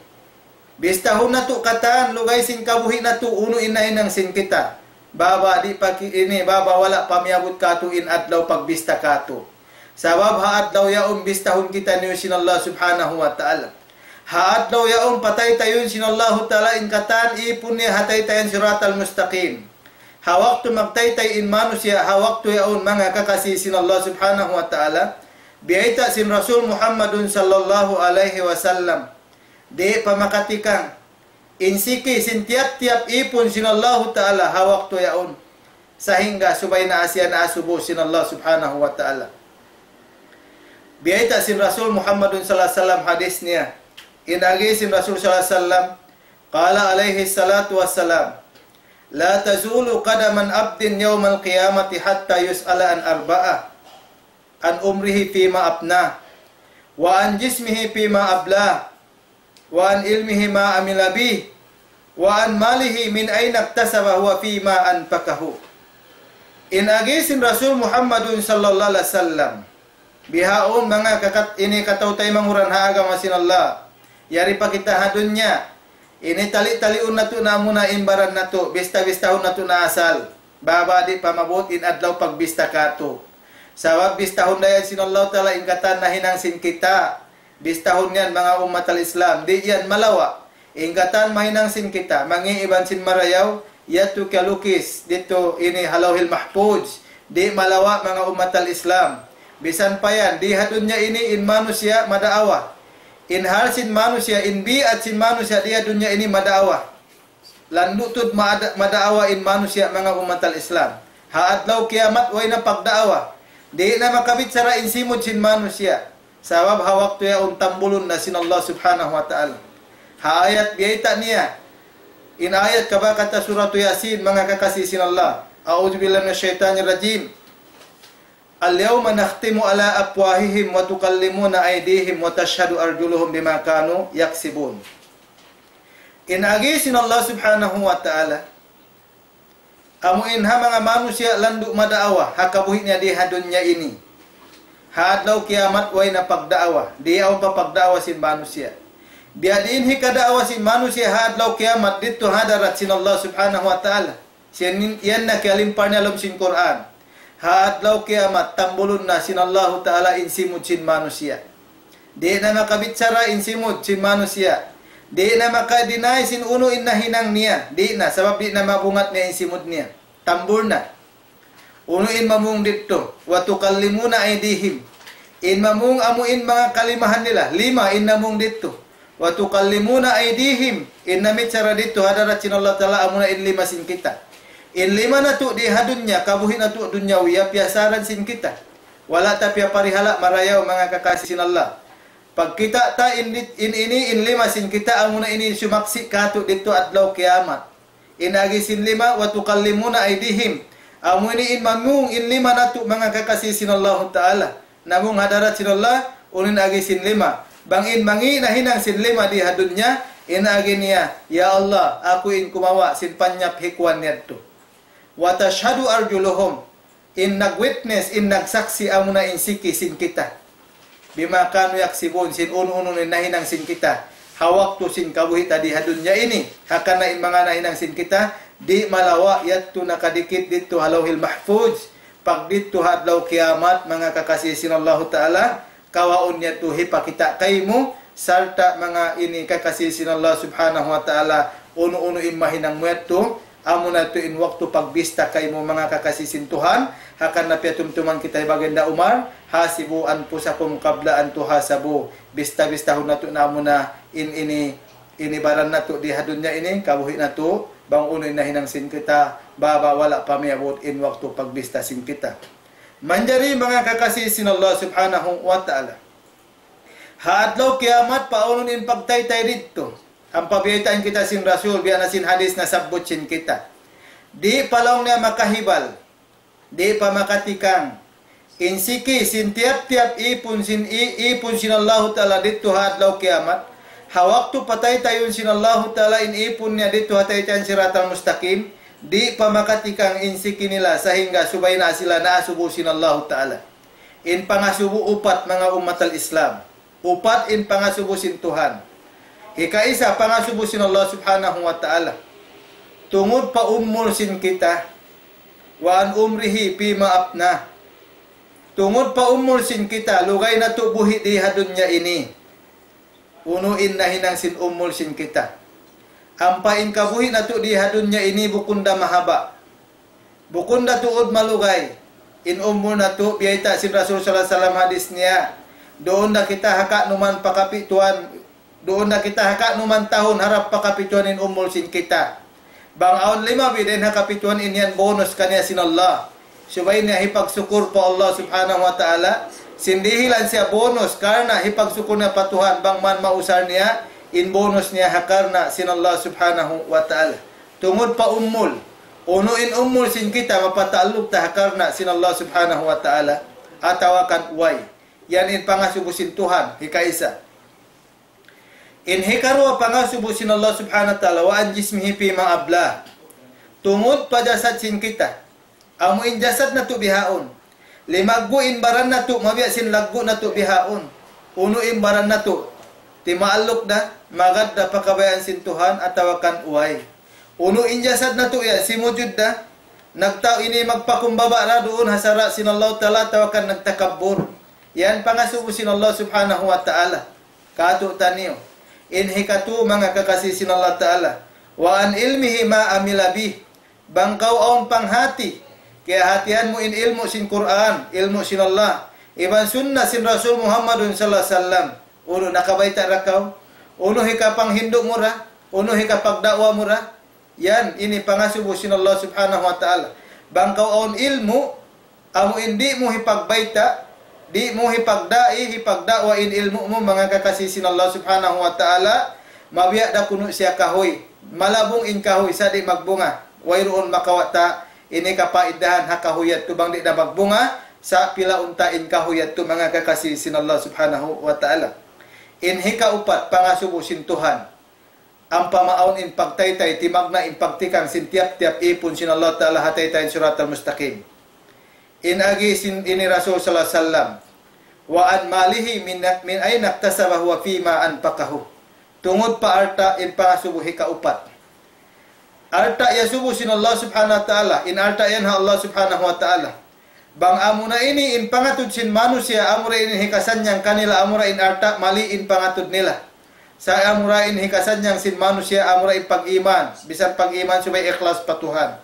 Bistahun natu' katan, lugay sin kabuhi' natu', unu in nahinang sin kita. Baba di' pa ki-, ini, baba wala' pa miyabut kātu' in adlaw pagbista kātu'. Sabab ha adlaw yaun bistahun kitaniyu sin Allah Subhanahu wa Ta'ala. Ha adlaw yaun pataytayun sin Allahu Ta'ala in katan ipun niya ha taytayan Siratal Mustaqim. Ha waktu magtaytay in manusiya', ha waktu yaun manga kakasi sin Allah Subhanahu wa Ta'ala, biyayta' sin Rasul Muhammadun sallallahu alayhi wasallam, di' pa makatikang in siki sin tiyap-tiyap ipun sin Allahu Ta'ala ha waktu yaun. sahingga subay na siya naasubu sin Allah Subhanahu wa Ta'ala. Biyayta' sin Rasul Muhammadun sallallahu alayhi wasallam hadis niya. In agi sin Rasul sallallahu alayhi wasallam, قال عليه الصلاة والسلام: لا تزول قدما عبد يوم القيامة حتى يسأل عن أربعة: عن عمره فيما أفناه، وعن جسمه فيما أبلاه، وعن علمه ما عمل به، وعن ماله من أين اكتسبه وفيما أنفقه. In agi sin Rasul Muhammadun sallallahu alayhi wasallam, bihaun manga kakat ini kataw-taymanghuran ha agama sin Allah. Yari pa kita ha dunya. Ini tali-taliun natu' na amuna in baran natu', bista-bistahun natu' na asal. Baba di' pa maabut in adlaw pagbista katu'. Sabab bistahun da yan sin Allah Ta'ala in katan nahinang sin kita. Bistahun yan manga ummat al-Islam. Di' yan malawa'. In katan mahinang sin kita, mangi' iban sin marayaw, yadtu kiyalukis didtu ini ha Lawhil Mahfuz. Di' malawa' manga ummat al-Islam. Bisan pa yan, di ha dunya ini in manusiya' madaawa. In hal sin manusiya', in bi'at sin manusiya' di ha dunya ini madaawa. Landu' tuud mada-, madaawa in manusiya' manga ummat al-Islam. Ha adlaw kiyamat way na pagdaawa. Di' na makabichara in simud sin manusiya'. Sabab ha waktu yaun tambulun na sin Allah Subhanahu wa Ta'ala. Ha ayat biyayta' niya. In ayat kabakata Suratu Yasin, manga kakasi sin Allah. أعوذ بالله من الشيطان الرجيم. اليوم نختم على أفواههم وتكلمنا أيديهم وتشهد أرجلهم بما كانوا يكسبون. In agi sin Allah Subhanahu wa Ta'ala, amu in ha manga manusiya' landu' madaawa, ha kabuhi' niya di ha dunya ini. Ha adlaw kiyamat way na pagdaawa, di' awn pa pagdaawa sin manusiya'. Biya' diin hikadaawa sin manusiya' ha adlaw kiyamat didtu ha hadarat sin Allah Subhanahu wa Ta'ala. Siya nin-, yan na kiyalimpar niya lawm sin Qur'an. Ha adlaw kiyamat, tambulun na sin Allahu Ta'ala in simud sin manusiya'. Di' na makabichara in simud sin manusiya'. Di' na maka-deny sin unu in nahinang niya. Di' na, sabab di' na mabungat niya in simud niya. Tambul na. Unu in mamung didtu, وتكلمنا أيديهم. In mamung amu in manga kalimahan nila, lima in namung didtu. وتكلمنا أيديهم. In namichara didtu ha hadarat sin Allah Ta'ala amuna in lima sin kita. In lima natu' di ha dunya, kabuhi' natu' dunyawiya, piyasaran sin kita. Wala' ta piyaparihala' marayaw manga kakasi sin Allah. Pagkita' ta in, in ini, in lima sin kita, amuna ini in sumaksi' katu' didtu adlaw kiyamat. In agi sin lima, وتكلمنا أيديهم. Amu ini in mamung in lima natu' manga kakasi sin Allahu Ta'ala. Namung ha hadarat sin Allah, unu in agi sin lima. Bang in mangi' nahinang sin lima di ha dunya, in agi niya, "Ya Allah, aku in kumawa' sin panyap hikuan yadtu." وتشهد أرجلهم. In nag-witness, in nagsaksi' amuna in siki sin kita. بما كانوا يكسبون, sin unu-unu in nahinang sin kita. Ha waktu sin kabuhi' ta di ha dunya ini. Hangkan in manga nahinang sin kita, di' malawa' yadtu nakadikit didtu ha Lawhil Mahfuz. Pagdidtu ha adlaw kiyamat, manga kakasi sin Allahu Ta'ala, kawaun niya tu hipakita' kaymu, sarta' manga ini kakasi sin Allah Subhanahu wa Ta'ala, unu-unu in mahinang mu yadtu, amuna tu in waktu pagbista kaymu manga kakasi sin Tuhan, hangkan na piyatumtuman kita hi Baginda Umar, حاسبوا أنفسكم قبل أن تحاسبوا, bista-bistahun natu' na amuna in ini, ini baran natu' di ha dunya ini, kabuhi' natu', bang unu in nahinang sin kita, baba wala' pa miyabut in waktu pagbista sin kita. Manjari manga kakasi sin Allah Subhanahu wa Ta'ala. Ha adlaw kiyamat, paunun in pagtaytay didtu. Ampa biyaytaan kita sin Rasul, biya' na sin hadis nasabbut sin kita. Di' pa laung niya makahibal. Di' pa makatikang. In siki, sin tiyap-tiyap ipun sin, i-, ipun sin Allahu Ta'ala didtu ha adlaw kiyamat. Ha waktu pataytayun sin Allahu Ta'ala in ipun niya didtu ha taytayan Siratal Mustaqim. Di' pa makatikang in siki nila sahingga subay na sila naasubu sin Allahu Ta'ala. In pangasubu upat manga ummat al-Islam. Upat in pangasubu sin Tuhan. Hikaisa pangasubu sin Allah Subhanahu wa Ta'ala. Tungud pa umul sin kita. وعن عمره فيما أفناه. Tungud pa umul sin kita, lugay natu' buhi' di ha dunya ini. Unu in nahinang sin umul sin kita. Ampa in kabuhi' natu' di ha dunya ini bukun da mahaba'. Bukun da tuud malugay. In umul natu', biyayta' sin Rasul sallallahu alayhi wasallam hadis niya. Duun da kita ha kanuman pa kapituan, duun da kita ha kanuman tahun harap pa kapituan in umul sin kita. Bang awn lima bi dayn ha kapituan, in yan bonus kaniya sin Allah. Subay niya hipagsukur pa Allah subhanahu wa ta'ala. Sin dihilan siya bonus karna' hipagsukur niya pa Tuhan bang man mausal niya in bonus niya ha karna' sin Allah subhanahu wa ta'ala. Tungud pa umul. Unu in umul sin kita mapataalluq ta ha karna' sin Allah subhanahu wa ta'ala. Atawa kan way. Yan in pangasubu sin Tuhan, hikaisa. In hikaruwa pangasubu sin Allah subhanahu wa ta'ala, وعن جسمه فيما أبلاه. Tungud pa jasad sin kita. Amu in jasad natu' bihaun. Limaggu' in baran natu', mabiya' sin laggu' natu' bihaun. Unu in baran natu'. Timaalluq da, magad da pa kabayaan sin Tuhan atawa kan way. Unu in jasad natu' yan, simujud da. Nagta-, ini magpakumbaba da duun ha sara' sin Allah ta'ala atawa kan nagtakabbur. Yan pangasubu sin Allah subhanahu wa ta'ala. Katu' taniyu. In hikatu manga kakasi sin Allah ta'ala. وعن علمه ما عمل به. Bang kaw awn panghati, kiyahatihan mu in ilmu' sin Qur'an, ilmu' sin Allah, iban sunnah sin Rasul Muhammadun sallallahu alayhi wasallam. Unu nakabayta' da kaw? Unu hikapanghindu' mu da? Unu hikapagda'wa mu da? Yan, ini pangasubu sin Allah subhanahu wa ta'ala. Bang kaw awn ilmu', amu in di' mu hipagbayta', di' mu hipagda'i, hipagda'wa in ilmu' mu, manga kakasi sin Allah subhanahu wa ta'ala, mabiya' da kunu' siya kahuy. Malabung in kahuy, sa' di' magbunga. Wayruun makawata', ini kapaidahan ha kahuy yadtu bang di' da magbunga, sa' pilaun ta in kahuy yadtu, manga kakasi sin Allah subhanahu wa ta'ala. In hikaupat, pangasubu sin Tuhan. Ampa maawn in pagtaytay, timagna' in pagtikang sin tiyap-tiyap ipun sin Allah Ta'ala ha taytay Siratal Mustaqim. In agi sin ini Rasul sallallahu alayhi wasallam, وعن ماله من، من أين اكتسبه وفيما أنفقه. Tungud pa alta' in pangasubu hikaupat. Alta' iyasubu sin Allah Subhanahu wa Ta'ala, in alta' yan ha Allah Subhanahu wa Ta'ala. Bang amuna ini in pangatud sin manusiya', amura in hikasannyang kanila, amura in alta' mali in pangatud nila. Sa' amura in hikasannyang sin manusiya', amura in pag-iman, bisan pag-iman subay ikhlas pa Tuhan.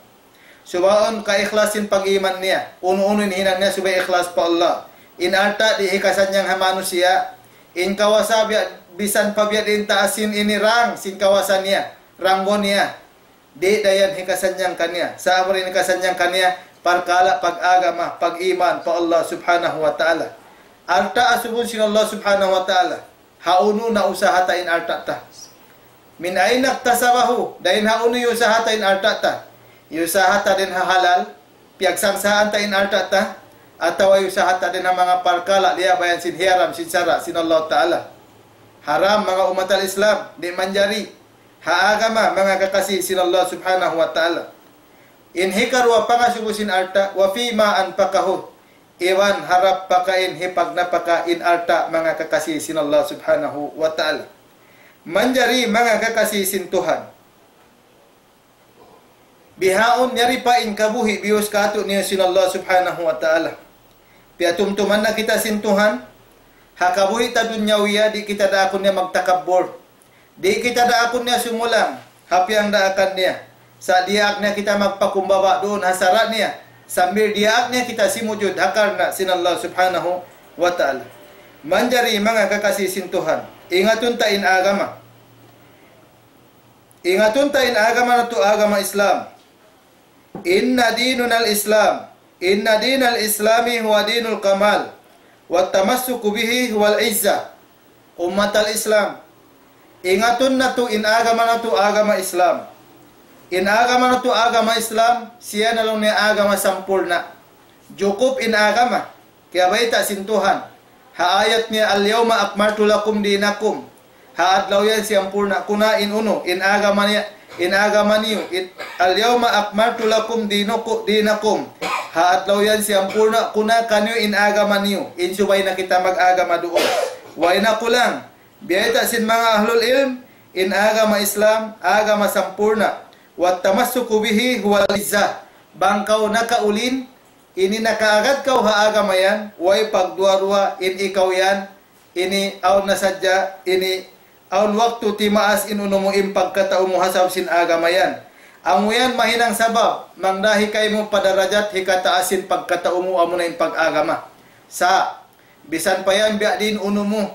Subay awn kaikhlasan pag-iman niya, unu-unu in hinang niya subay ikhlas pa Allah. In alta' di' hikasannyang ha manusiya', in kawasa biya', bisan pa biya' diin taas sin ini rang, sin kawasa niya, ranggo niya. Di' da yan hikasannyang kaniya. Sa' amura in hikasannyang kaniya, parkala' pag-agama, pag-iman pa Allah Subhanahu wa Ta'ala. Alta' asubun sin Allah Subhanahu wa Ta'ala. Hawnu nausaha ta in alta' ta? من أين اكتسبه, dayn hawnu iyusaha ta in alta' ta? Iyusaha ta dayn ha halal, piyagsangsahan ta in alta' ta, atawa iyusaha ta dayn ha manga parkala' liyabayan sin hiyaram sin sara' sin Allah Ta'ala. Haram, manga ummatal Islam, di' manjari. Ha agama, manga kakasi sin Allah Subhanahu wa Ta'ala. In hikaruwa pangasubu sin alta', وفيما أنفقه. Iban harap pakain hipagnapaka in alta' manga kakasi sin Allah Subhanahu wa Ta'ala. Manjari manga kakasi sin Tuhan. Bihaun yari pa in kabuhi' biyus kātu'niyu sin Allah Subhanahu wa Ta'ala. Piyatumtuman na kita sin Tuhan, ha kabuhi' ta dunyawiya di' kita daakun niya magtakabbur. Di' kita daakun niya sumulang, ha piyagdaakan niya. Sa' diyaak niya kita magpakumbaba duun ha sara' niya. Sambil diyaak niya kita simujud ha karna' sin Allah Subhanahu wa Ta'ala. Manjari manga kakasi sin Tuhan. Ingatun ta in agama. Ingatun ta in agama natu' agama Islam. إن ديننا الإسلام. إن دين الإسلام هو دين الكمال. والتمسك به هو العزة. Ummatal Islam. Ingatun natu' in agama natu' agama Islam. In agama natu' agama Islam, siya na laung niya agama sampurna'. Jukup in agama. Kiyabayta' sin Tuhan. Ha ayat niya, اليوم أكملت لكم دينكم. Ha adlaw yan siyampurna' ku na in unu, in agama niya, in agama niyu, in, اليوم أكملت لكم دينكو-، دينكم. Ha adlaw yan siyampurna' ku na kaniyu in agama niyu, in subay na kita mag-agama duun. Way na kulang. Biyayta' sin manga ahlul ilm, in agama Islam, agama sampurna'. والتمسك به هو العزة. Bang kaw nakaulin, ini nakaagad kaw ha agama yan, way pagduwa-ruwa in ikaw yan, ini awn na sadja, ini awn waktu timaas in unu mu in pagkatau mu ha sabab sin agama yan. Amu yan mahinang sabab, mangdahi kaymu pa darajat hikataas sin pagkatau mu amuna in pag-agama. Sa', bisan pa yan biya' diin unu mu,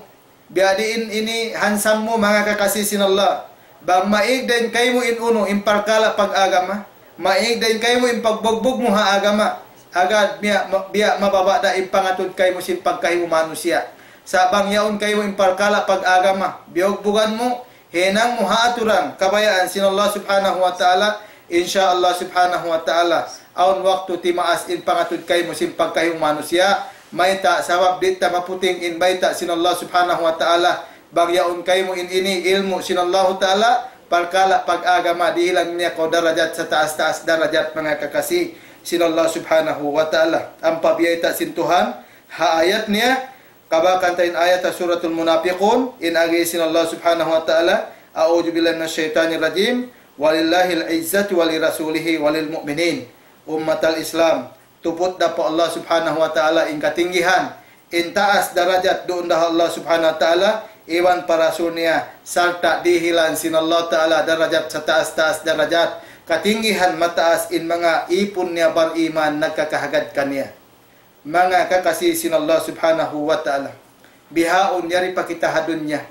biya' diin ini hansam mu manga kakasi sin Allah. Bang maig dayn kaymu in unu, in parkala' pag-agama. Maig dayn kaymu in pagbugbug mu ha agama. Agad biya', biya' mababa' da in pangatud kaymu sin pagkahi mu manusiya'. Sa' bang yaun kaymu in parkala' pag-agama, biyugbugan mu, hinang mu ha aturan, kabayaan sin Allah Subhanahu wa Ta'ala, insya Allah Subhanahu wa Ta'ala, awn waktu timaas in pangatud kaymu sin pagkahi mu manusiya', mayta' sabab di' ta maputing in bayta' sin Allah Subhanahu wa Ta'ala, bang yaun kaymu in ini ilmu' sin Allahu Ta'ala, parkala' pag-agama, dihilan niya kaw darajat sataas-taas darajat manga kakasi sin Allah Subhanahu wa Ta'ala. Ampa biyayta' sin Tuhan, ha ayat niya, kabakan ta in ayat ha Suratul Munafiqun, in agi sin Allah Subhanahu wa Ta'ala, أعوذ بالله من الشيطان الرجيم، ولله العزة ولرسوله وللمؤمنين. Ummat al-Islam, tuput da pa Allah Subhanahu wa Ta'ala in katinggihan, in taas darajat duun da ha Allah Subhanahu wa Ta'ala, iban pa Rasul niya, sarta' dihilan sin Allah Ta'ala darajat sataas-taas darajat, katinggihan mataas in manga ipun niya bariman nagkakahagad kaniya. Manga kakasi sin Allah Subhanahu wa Ta'ala. Bihaun yari pa kita ha dunya.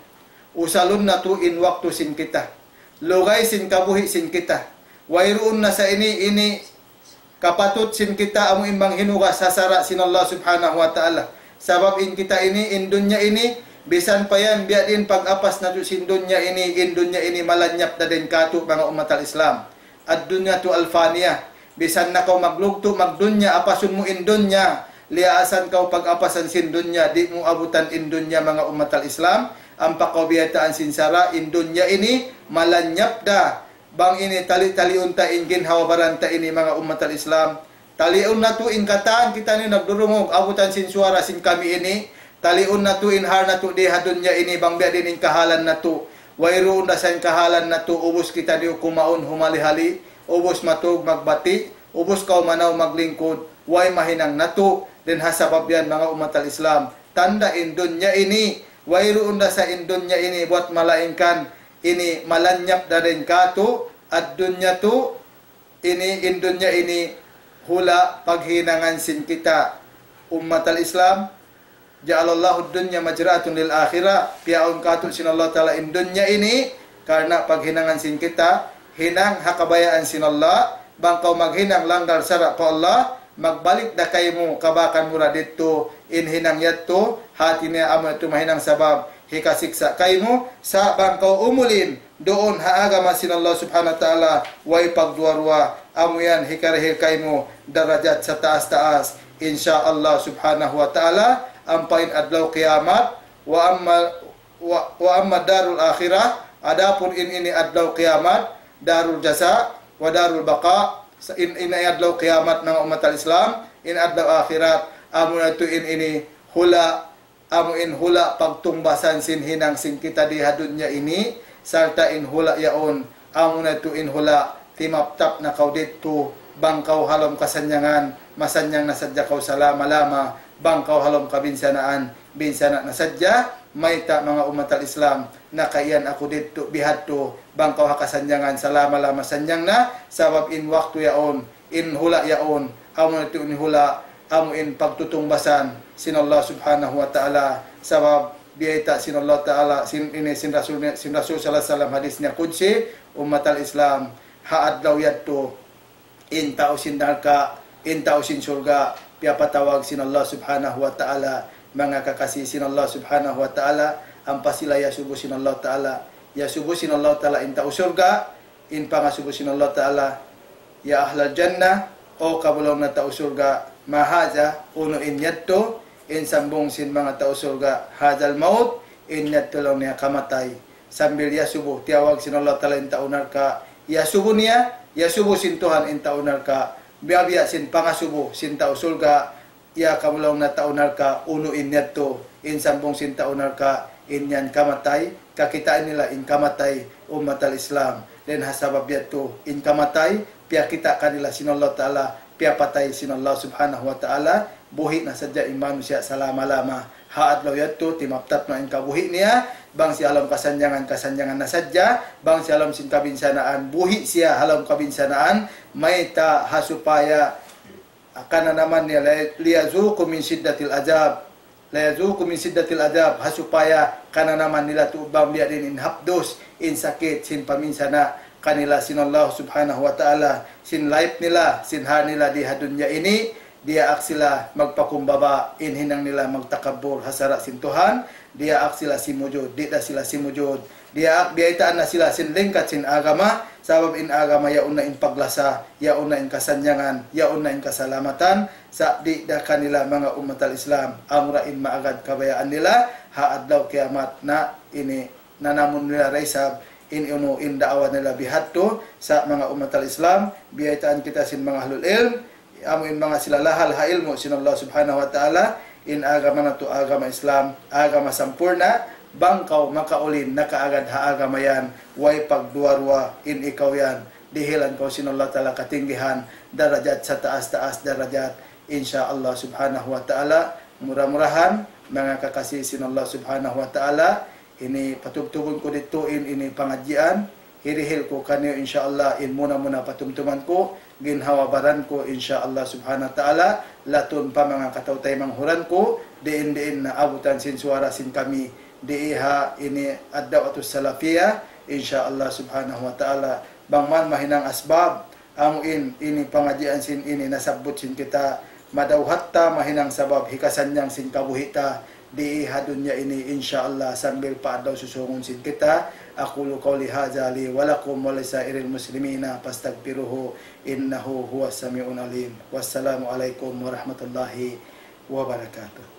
Usalun natu' in waktu sin kita. Lugay sin kabuhi' sin kita. Wayruun na sa ini, ini kapatut sin kita amu in manghinugas ha sara' sin Allah Subhanahu wa Ta'ala. Sabab in kita ini, in dunya ini, bisan pa yan, biya' diin pag-apas natu' sin dunya ini, in dunya ini malanyap da dayn kātu', manga ummat al-Islam. الدنيا الفانية. Bisan na kaw maglugtu' magdunya, apasun mu in dunya, liyaasan kaw pag-apasan sin dunya, di' mu abutan in dunya, manga ummat al-Islam. Ampa kaw biyaytaan sin sara', in dunya ini malanyap da. Bang ini tali-taliun ta in ginhawa-baran ta ini, manga ummat al-Islam. Taliun natu' in katan kita ini nagdurungug, abutan sin suwara sin kami ini. Taliun natu' in hal natu' di ha dunya ini, bang biya' diin in kahalan natu'. Wayruun da sa in kahalan natu', ubus kita di' kumaun humali-hali, ubus matug magbati', ubus kaw manaw maglingkud, way mahinang natu', dayn ha sabab yan, manga ummat al-Islam. Tanda' in dunya ini, wayruun da sa in dunya ini, buwat malaingkan, ini malanyap da dayn kātu', ad-dunya tu, ini, in dunya ini, hula' paghinangan sin kita, ummat al-Islam. جعل الله الدنيا مزرعة للآخرة. Piyaawn kātu' sin Allah Ta'ala in dunya ini, karna' paghinangan sin kita, hinang ha kabayaan sin Allah, bang kaw maghinang langgal sara' pa Allah, magbalik da kaymu, kabakan mu da didtu, in hinang yadtu, hāti niya amu yadtu mahinang sabab, hikasiksa' kaymu, sa' bang kaw umulin, duun ha agama sin Allah Subhanahu wa Ta'ala, way pagduwa-ruwa, amu yan hikarihil kaymu, darajat sataas-taas, insya Allah Subhanahu wa Ta'ala, ampa in adlaw kiyamat, وأما، و، وأما الدار الآخرة, adapun in ini adlaw kiyamat, دار الجزاء ودار البقاء, sa-, in, in adlaw kiyamat manga ummat al-Islam, in adlaw akhirat, amu na yadtu in ini hula', amu in hula' pagtungbasan sin hinang sin kita di ha dunya ini, sarta' in hula' yaun, amu na yadtu in hula' timaptap na kaw didtu, bang kaw ha lawm kasannyangan, masanyang na sadja kaw salama-lama, bang kaw ha lawm kabinsanaan, binsana' na sadja, mayta' manga ummat al-Islam, nakaiyan aku didtu bihadtu, bang kaw ha kasannyangan salama-lama sanyang na, sabab in waktu yaun, in hula' yaun, amu na yadtu in hula', amu in pagtutungbasan sin Allah Subhanahu wa Ta'ala, sabab biyayta' sin Allah Ta'ala, sin, ini sin Rasul, sin Rasul sallallahu alayhi wasallam, hadis niya qudsi, ummat al-Islam, ha adlaw yadtu, in tau sin narka', in tau sin surga', piyapatawag sin Allah Subhanahu wa Ta'ala, manga kakasi sin Allah Subhanahu wa Ta'ala, ampa sila iyasubu sin Allah Ta'ala, iyasubu sin Allah Ta'ala in tau surga', in pangasubu sin Allah Ta'ala, يا أهل الجنة, O kamu laung niya tau surga', ما هذا, unu in yadtu, in sambung sin manga tau surga', هذا الموت, in yadtu laung niya kamatay. Sambil iyasubu, tiyawag sin Allah Ta'ala in tau narka', iyasubu niya, iyasubu sin Tuhan in tau narka', biya'-biya' sin pangasubu sin tau surga', Ya kamu laung niya tau narka', unu in yadtu, in sambung sin tau narka', in yan kamatay, kakitaan nila in kamatay, ummat al-Islam. Dayn ha sabab yadtu, in kamatay, piyakita' kanila sin Allah Ta'ala, piyapatay sin Allah Subhanahu wa Ta'ala, buhi' na sadja in manusiya' salama-lama. Ha adlaw yadtu, timaptap na in kabuhi' niya, bang siya ha lawm kasannyangan, kasannyangan na sadja, bang siya ha lawm sin kabinsanaan, buhi' siya ha lawm kabinsanaan, mayta' ha supaya kananaman niya, la-, ليذوقوا من شدة العذاب. ليذوقوا من شدة العذاب. Ha supaya kananaman nila tuud bang biya' diin in hapdus, in sakit sin paminsana' kanila sin Allah Subhanahu wa Ta'ala, sin life nila, sin ha nila di ha dunya ini, diyaak sila magpakumbaba, in hinang nila magtakabbur ha sara' sin Tuhan, diyaak sila simujud, di' da sila simujud, diyaak biyaytaan na sila sin lingkat sin agama, sabab in agama yaun na in paglasa, yaun na in kasannyangan, yaun na in kasalamatan, sa' di' da kanila manga ummat al-Islam, amura in maagad kabayaan nila, ha adlaw kiyamat na ini nanamun nila da isab in unu in daawa nila bihadtu sa' manga ummat al-Islam, biyaytaan kita sin manga ahlul ilm, amu in manga sila lahal ha ilmu' sin Allah Subhanahu wa Ta'ala, in agama natu' agama Islam, agama sampurna', bang kaw makaulin nakaagad ha agama yan, way pagduwa-ruwa in ikaw yan, dihilan kaw sin Allah Ta'ala katinggihan, darajat sataas-taas darajat, insya Allah Subhanahu wa Ta'ala, mura-murahan, manga kakasi sin Allah Subhanahu wa Ta'ala, ini patubtubun ku didtu in ini pangadjian, hirihil ku kaniyu insya Allah in muna-muna patumtuman ku, ginhawa-baran ku insya Allah Subhanahu wa Ta'ala, latun pa manga kataw-taymanghuran ku, diin-diin na abutan sin suwara sin kami, di ha ini Ad-Da'watus Salafiyah, insya Allah Subhanahu wa Ta'ala, bang man mahinang asbab, amu in ini pangadjian sin ini nasabbut sin kita, madawhat ta mahinang sabab hikasannyang sin kabuhi' ta di ha dunya ini, insya Allah, sambil pa adlaw susungun sin kita. أقول قولي هذا لي ولكم ولسائر المسلمين فاستغفروه إنه هو السميع العليم. والسلام عليكم ورحمة الله وبركاته.